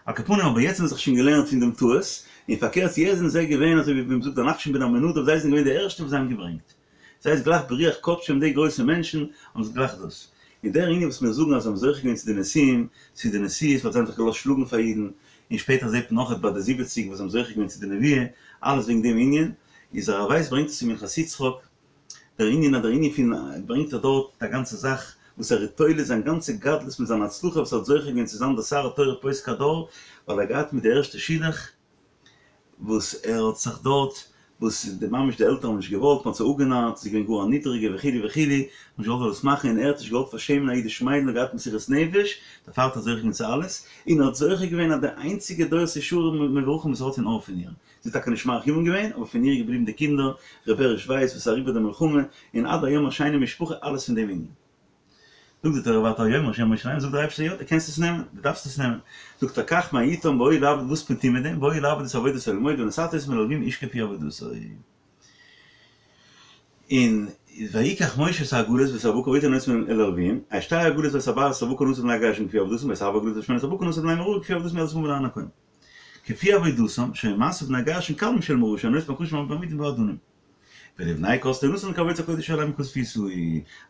על כל פנים אבער יעצט האבן זיי זיך שוין געלערנט פון דעם טעות, און פארקערט יעצט זענען זיי געווען אזוי ווי מ'זאגט דער נחשון בן עמינדב זיי זענען געווען די ערשטע וואס זיי האבן געברענגט. זיי איז גלייך ברוח קדשם די גרויסע מענטשן האבן זיך גלייך דאס. און דער ענין וואס מיר זאגן אז זיי האבן זוכה געווען צו די נשיאים, צו די נשיאות ווייל זיי האבן זיך געלאזט שלאגן פאר אידן, און שפעטער זעט מען אויכעט ביי די זיבעציג וואס זיי האבן זוכה געווען צו די נבואה, אלעס וועגן דעם ענין, איז הרב ווייס ברענגט עס אין מנחת יצחק. דער ענין אז דער ענין פון ברענגט ער דארט א גאנצע זאך וואס ער איז תולה זיין גאנצע גדלות מיט זיין הצלחה וואס ער האט זוכה געווען צו זיין דער שר התורה פוסק הדור ווייל ער האט געהאט מיט די ערשטע שידוך וואס ער האט זיך דארט וואס די ממש די עלטערן האבן נישט געוואלט, מען האט זיי אפגענארט, זי איז געווען גאר א נידריגע וכו' וכו', מ'האט נישט געוואלט דאס מאכן און ער האט נישט געוואלט פארשעמען א אידיש מיידל און געהאט מסירות נפש, דערפאר האט ער זוכה געווען צו אלעס, און ער האט זוכה געווען אז די איינציגע דורות ישרים מבורכים וואס ער האט איז נאר פון איר, זי האט טאקע נישט מאריך ימים געווען, אבער פון איר איז געבליבן די קינדער, ר' בעריש ווייס וואס איז אריבער די מלחמה, און עד היום א שיינע משפחה, אלעס פון דעם ענין. זאגט די תורה ווייטער ויאמר ה' אל משה לאמר, זאגט דער אייבערשטער יא דו קענסט עס נעמען, דו דארפסט עס נעמען, זאגט ער קח מאתם והיו לעבוד וואס מען טוט מיט דעם, והיו לעבוד את עבודת אוהל מועד ונתתה אותם אל הלוים איש כפי עבודתו. און ויקח משה את העגלות ואת הבקר ויתן אותם אל הלוים, את שתי העגלות ואת ארבעת הבקר נתן לבני גרשון כפי עבודתם ואת ארבע העגלות ואת שמונת הבקר נתן לבני מררי כפי עבודתם יד אל אהרן הכהן כפי עבודתם שהיו משא בני גרשון קל משל מררי שהיו נושאים הקרשים והבעמידים והאדנים. ולבני קהת לא נתן כי עבודת הקודש היא עליהם בכתף ישאו,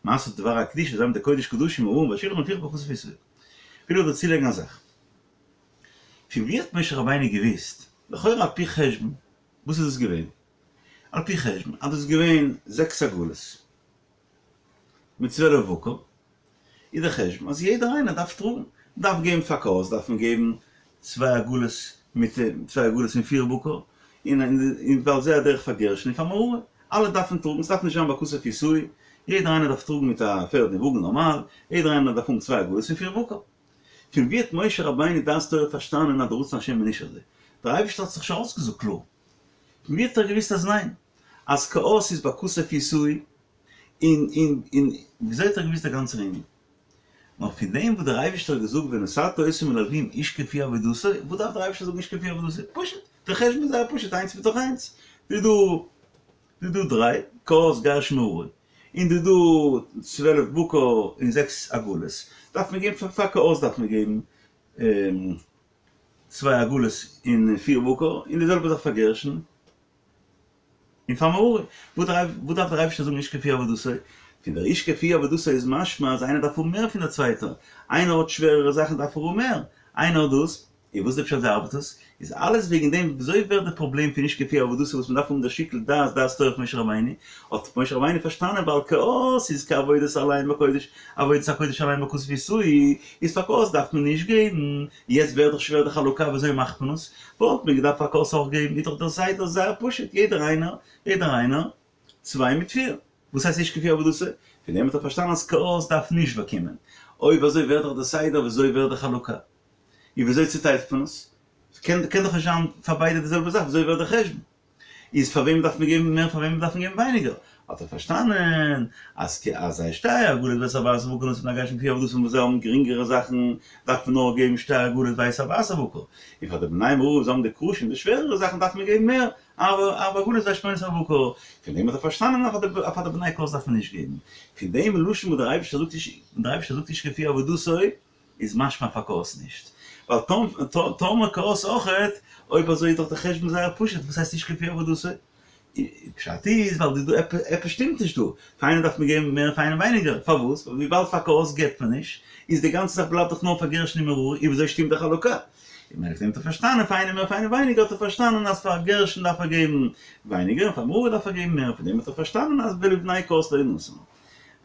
משא דבר הקדושה זיי האבן די קודש קדשים הארון והשלחן לפיכך בכתף ישאוהו. וויל איך דא צולייגן א זאך. פון ווי האט משה רבינו געוואוסט, לכאורה על פי חשבון, וואס איז דאס געווען? על פי חשבון אז דאס איז געווען זעקס עגלות מיט 12 בקר, איז דער חשבון אז יעדער איינער דארף טראגן, דארף געבן פאר קהת דארף מען געבן צוויי עגלות מיט צוויי עגלות און פיר בקר, און און ועל זה הדרך פאר גרשון און פאר מררי, אלע דארפן טראגן, עס דארף נישט זיין בכתף ישאו, יעדער איינער דארף טראגן מיט א פערד און וואגן נארמאל, יעדער איינער דארף האבן צוויי עגלות און פיר בקר. פון ווי האט משה רבינו דעת תורה פארשטאנען אז דער רצון השם איז נישט אזוי? דער אייבערשטער האט זיך שוין אויסגעזאגט קלאר. פון ווי האט ער געוואוסט אז ניין? אז קהת איז בכתף ישאו, און און און וויאזוי האט ער געוואוסט דער גאנצער ענין? נאר פון דעם וואס דער אייבערשטער האט געזאגט ונתתה אותם אל הלוים איש כפי עבודתו, וואס דארף דער אייבערשטער זאגן איש כפי עבודתו? פשוט, דער חשבון איז זייער פשוט, איינס מתוך איינס, דא איז דא דא איז דא דריי, קהת גרשון מררי, און דא איז דא 12 בקר און זעקס עגלות, דארף מען געבן פאר פאר קהת דארף מען געבן צוויי עגלות און פיר בקר, און די זעלבע זאך פאר גרשון. און פאר מררי, וואס דארף דער אייבערשטער זאגן איש כפי עבודתו? פון דער איש כפי עבודתו איז משמע אז איינער דארף האבן מער פון דער צווייטער, איינער האט שווערערע זאכן דארף ער האבן מער, איינער האט דאס, און וואס איז די פשט ווי ארבעט עס? איז אלעס וועגן דעם, וויאזוי ווערט די פראבלעם פון איש כפי עבודתו וואס מען דארף האבן דער שיקול דעת, דעת תורה פון משה רבינו, האט משה רבינו פארשטאנען ווייל קהת איז כעבודת עליהם בקודש, עבודת הקודש עליהם בכתף ישאו, איז פאר קהת דארף מען נישט געבן, יעצט ווערט דאך שווער די חלוקה וויאזוי מאכט מען עס? וואלט מען געדארפט פאר קהת אויך געבן, איז דאך דער סדר זייער פשוט, יעדער איינער, יעדער איינער, צוויי מיט פיר. וואס הייסט איש כפי עבודתו? פון דעם האט ער פארשטאנען אז קהת דארף נישט באקומען. אויב אזוי ווערט דאך דער סדר וויאזוי ווערט די חלוקה? און וויאזוי צוטיילט מען עס? קען דאך נישט זיין פאר ביידע די זעלבע זאך, וויאזוי ווערט דער חשבון? איז פאר וועם דארף מען געבן מער פאר וועם דארף מען געבן ווייניגער? האט ער פארשטאנען אז אז את שתי העגלות ואת ארבעת הבקר נתן לבני גרשון כפי עבודתם וואס זיי האבן גרינגערע זאכן דארף מען נאר געבן שתי עגלות ואת ארבעת הבקר, און פאר די בני מררי וואס האבן די קרשים די שווערערע זאכן דארף מען געבן מער, ארבע עגלות ואת שמונת הבקר, פון דעם האט ער פארשטאנען אז פאר די בני קהת דארף מען נישט געבן, פון דעם לשון וואס דער אייבערשטער זאגט איש דער אייבערשטער זאגט איש כפי עבודתו איז משמע פאר קהת נישט, ווייל טאמער קהת אויכעט, אויב אזוי איז דאך די חשבון זייער פשוט, וואס הייסט איש כפי עבודתו? פשט איז ווייל דא עפעס שטימט נישט דא, פאר איינעם דארף מען געבן מער פאר איינעם ווייניגער, פארוואס? ווייל וויבאלד פאר קהת געבט מען נישט, איז די גאנצע זאך בלייבט דאך נאר פאר גרשון און מררי, און וויאזוי שטימט די חלוקה? און ממילא פון דעם האט ער פארשטאנען פאר איינעם מער פאר איינעם ווייניגער האט ער פארשטאנען אז פאר גרשון דארף ער געבן ווייניגער און פאר מררי דארף ער געבן מער, פון דעם האט ער פארשטאנען אז ולבני קהת לא נתן.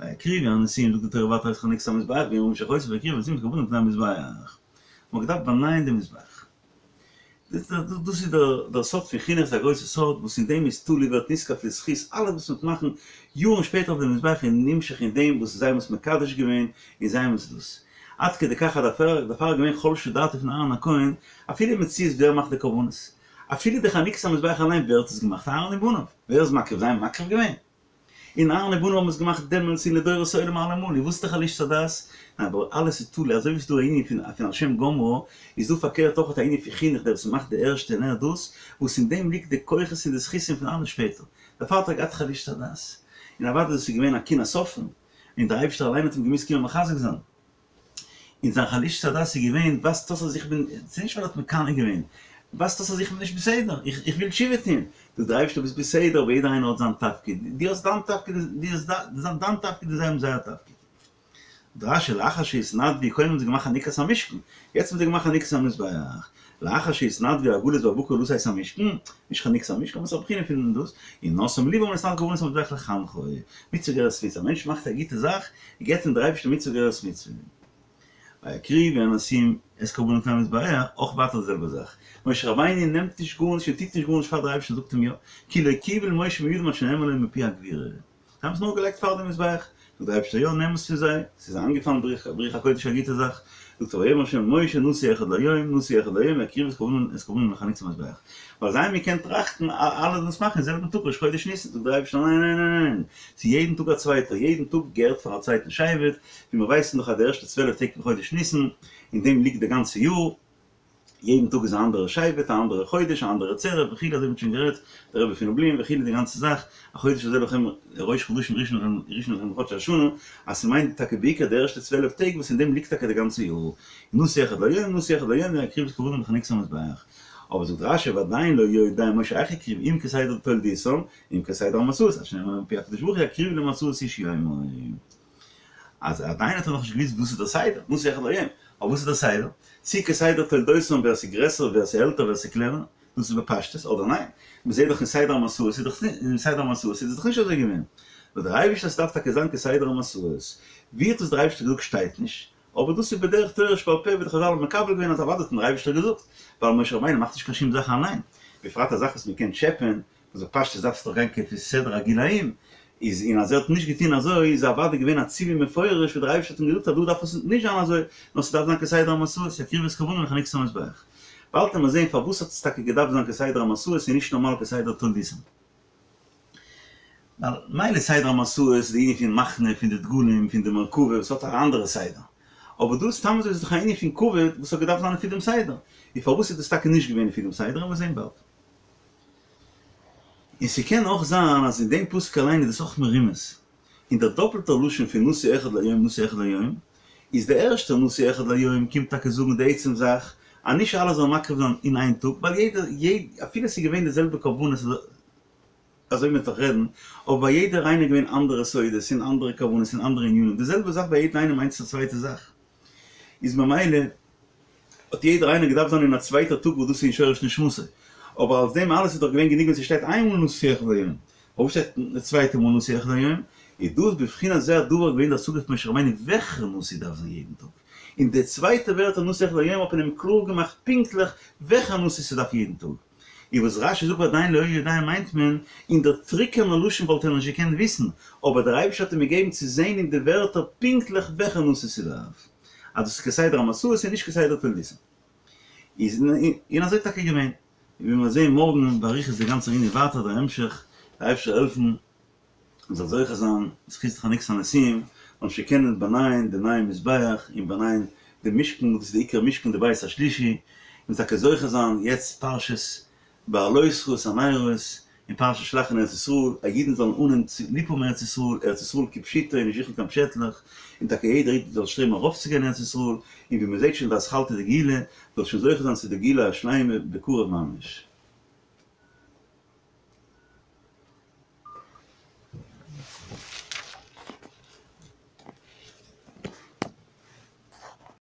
ויקריבו הנשיאים זאגט די תורה ווייטער את חנוכת המזבח ויאמר משה ויקריבו הנשיאים את קרבנם לפני המזבח. מען האט געדארפט באנייען די מזבח. דאס איז דער סוד פון חינוך, ס'איז א גרויסע סוד וואס אין דעם איז תלוי ווערט נזקף לזכות אלעס וואס מ'וועט מאכן יארן שפעטער אויף די מזבח איז נמשך אין דעם וואס זיי האבן עס מקדש געווען און זיי האבן עס דאס. עד כדי כך אז דערפאר איז געווען חלשה דעתו פון אהרן הכהן אפילו אין מציאות ווער מאכט די קרבנות אפילו די חנוכת המזבח אליין ווער האט עס געמאכט אהרן ובניו ווער איז מקריב זיי האבן מקריב געווען? און אהרן ובניו האבן עס געמאכט דעמאלטס און לדורות עולם אלעמאל, און וואס איז די חלישת הדעת? ניין אבער אלעס איז תלוי, אזוי ווי ס'איז דא א ענין פון פון על שם גמרה, איז דא פארקערט אויך א ענין פון חינוך דער וואס מאכט די ערשטע און ער דאס, וואס אין דעם ליגט די כוחות און די זכותים פון אלע שפעטער, דערפאר האט ער געהאט חלישת הדעת, און אוודאי דאס איז געווען א קנאת סופרים, און דער אייבערשטער אליין האט אים געמוזט קומען מחזק זיין. און זיין חלישת הדעת איז געווען, ווייזט אויס אז איך בין, ס'איז נישט ווייל ער האט מקנא געווען, ווייזט אויס אז איך בין נישט בסדר, איך וויל תשובה טון, זאגט דער אייבערשטער ביסט בסדר אבער יעדער איינער האט זיין תפקיד, דו האסט דיין תפקיד, דו האסט דיין תפקיד און זיי האבן זייער תפקיד. זאגט רש"י לאחר שהתנדבו, קודם האבן זיי געמאכט חנוכת המשכן, יעצט האבן זיי געמאכט חנוכת המזבח. לאחר שהתנדבו העגלות והבקר לשאת את המשכן, נישט חנוכת המשכן, אבער ס'איז א בחינה פון דאס, און נשאם לבם להתנדב קרבנות המזבח לחנכו, מצוה גוררת מצוה, א מענטש מאכט א גוטע זאך, געבט אים דער אייבערשטער מצוה גוררת מצוה. ויקריבו הנשיאים את קרבנם לפני המזבח, אויך ווייטער די זעלבע זאך, משה רבינו נעמט נישט גארנישט און טוט נישט גארנישט פאר דער אייבערשטער זאגט אים יא, כי לא קיבל משה מידם עד שנאמר לו מפי הגבורה. זיי האבן עס נאר געלייגט פאר די מזבח, זאגט דער אייבערשטער יא נעם עס פון זיי, ס'איז איינגעפאלן ברוח הקודש א גוטע זאך, זאגט ער ויאמר ה' אל משה נשיא אחד ליום נשיא אחד ליום יקריבו את קרבנם את קרבנם לחנוכת המזבח, ווייל זיי האבן געקענט טראכטן אלע זאלן עס מאכן אין זעלבן טאג ראש חודש ניסן, זאגט דער אייבערשטער ניין ניין ניין ניין, ס'איז יעדן טאג א צווייטער, יעדן טאג געהערט פאר א צווייטן שבט, ווי מיר ווייסן דאך אז די ערשטע צוועלף טעג פון חודש ניסן, אין דעם ליגט די גאנצע יאר, יעדן טאג איז א אנדערע שבט, א אנדערע חודש, א אנדערע צירוף וכו', אזוי ווי מ'האט שוין גערעדט, דער רבי פון לובלין וכו', די גאנצע זאך, החודש הזה לכם ראש חדשים ראשון לכם ראשון לכם לחדשי השנה, אז ס'מיינט טאקע בעיקר די ערשטע צוועלף טעג וואס אין דעם ליגט טאקע די גאנצע יאר, נשיא אחד ליום, נשיא אחד ליום, ויקריבו את קרבנם לחנוכת המזבח. אבער זאגט רשי ועדיין לא יודע משה איך יקריבו אם כסדר תולדותם, אם כסדר המסעות, עד שנאמר לו מפי הקדוש ברוך הוא יקריבו למסעות איש יומו. אז עדיין האט ער נאכנישט געוויסט וואס איז דער סדר, נשיא אחד ליום, אבער וואס איז דער סדר? צי כסדר תולדותם ווער ס'איז גרעסער ווער ס'איז עלטער ווער ס'איז קלענער, דאס איז בפשטות, אדער ניין? מ'זעט דאך אין סדר המסעות איז דאך אין סדר המסעות איז עס דאך נישט אזוי געווען. נאר דער אייבערשטער ס'דארף טאקע זיין כסדר המסעות. ווי האט עס דער אייבערשטער געזאגט שטייט נישט, אבער דאס איז בדרך תורה שבעל פה ווי די חזל האבן מקבל געווען אז אוודאי האט אים דער אייבערשטער געזאגט, ווייל משה רבינו מאכט נישט קיין שום זאך אליין, בפרט א זאך וואס מ'קען טשעפען, וואס בפשטות דארף עס דאך גיין כפי סדר הגילאים, איז און אז ער האט נישט געטון אזוי איז אוודאי געווען א ציווי מפורש וואס דער אייבערשטער האט אים געזאגט אז דא דארף עס נישט זיין אזוי, נאר ס'דארף זיין כסדר המסעות, יקריבו את קרבנם לחנוכת המזבח. באלד וועט מען זען פארוואס האט עס טאקע געדארפט זיין כסדר המסעות און נישט נארמאל כסדר תולדותם. ווייל מילא סדר המסעות איז די ענין פון מחנה, פון די דגלים, פון די מרכבה, וואס האט א אנדערע סדר. אבער דא סתם אזוי איז דאך א ענין פון כבוד וואס האט געדארפט זיין לפי דעם סדר. און פארוואס איז דאס טאקע נישט געווען לפי דעם סדר וועלן מיר זען באלד. און ס'קען אויך זיין אז אין דעם פסוק אליין איז דאס אויך מרומז, אין דער דאפלטער לשון פון נשיא אחד ליום נשיא אחד ליום, איז דער ערשטער נשיא אחד ליום קומט טאקע זאגן די עצם זאך אז נישט אלע זאלן מקריב זיין אין איין טאג, ווייל יעדער, אפילו ס'איז געווען די זעלבע קרבנות אזוי ווי מ'וועט דאך רעדן, אבער ביי יעדער איינער געווען אנדערע סודות און אנדערע כוונות און אנדערע ענינים, די זעלבע זאך ביי יעדן איינעם מיינט עס א צווייטע זאך, איז ממילא האט יעדער איינער געדארפט זיין אין א צווייטער טאג וואס דאס איז אין שורש נשמתו, אבער אלס דעם אלעס איז דאך געווען גענוג ווען ס'שטייט איינמאל נשיא אחד ליום, פארוואס שטייט די צווייטע מאל נשיא אחד ליום? איז דאס בבחינת זה הדבר געווען די השגה פון משה רבינו וועלכער נשיא דארף זיין יעדן טאג, און די צווייטע ווערטער נשיא אחד ליום האט מען אים קלאר געמאכט פונקטליך וועלכער נשיא ס'דארף יעדן טאג. און וואס רשי זאגט ועדיין לא יודע מיינט מען, אין דער טרוקענער לשון וואלט ער נישט געקענט וויסן, אבער דער אייבערשטער האט אים געגעבן צו זען אין די ווערטער פונקטליך וועלכער נשיא ס'דארף, אז דאס איז כסדר המסעות און נישט כסדר תולדותם. איז און אזוי טאקע געווען. ווי מיר זעהן מארגן באריכות די גאנצע ענין ווייטער דער המשך, דער אייבערשטער זאל העלפן מ'זאל זוכה זיין בזכות חנוכת הנשיאים, זאלן שוין קענען באנייען די נייע מזבח און באנייען די משכן, וואס איז די עיקר משכן די בית השלישי, און טאקע זוכה זיין יעצט פרשת בהעלותך את הנרות און פרשת שלח אין ארץ ישראל, אז אידן זאלן אנהייבן צו ליב האבן ארץ ישראל, ארץ ישראל כפשוטו און נישט זוכן קיין פשעטלעך, און טאקע יעדער איד זאל שטרעבן ארויפצוגיין אין ארץ ישראל, און ווי מען זעט שוין די אתחלתא דגאולה, זאל שוין זוכה זיין צו די גאולה השלימה בקרוב ממש.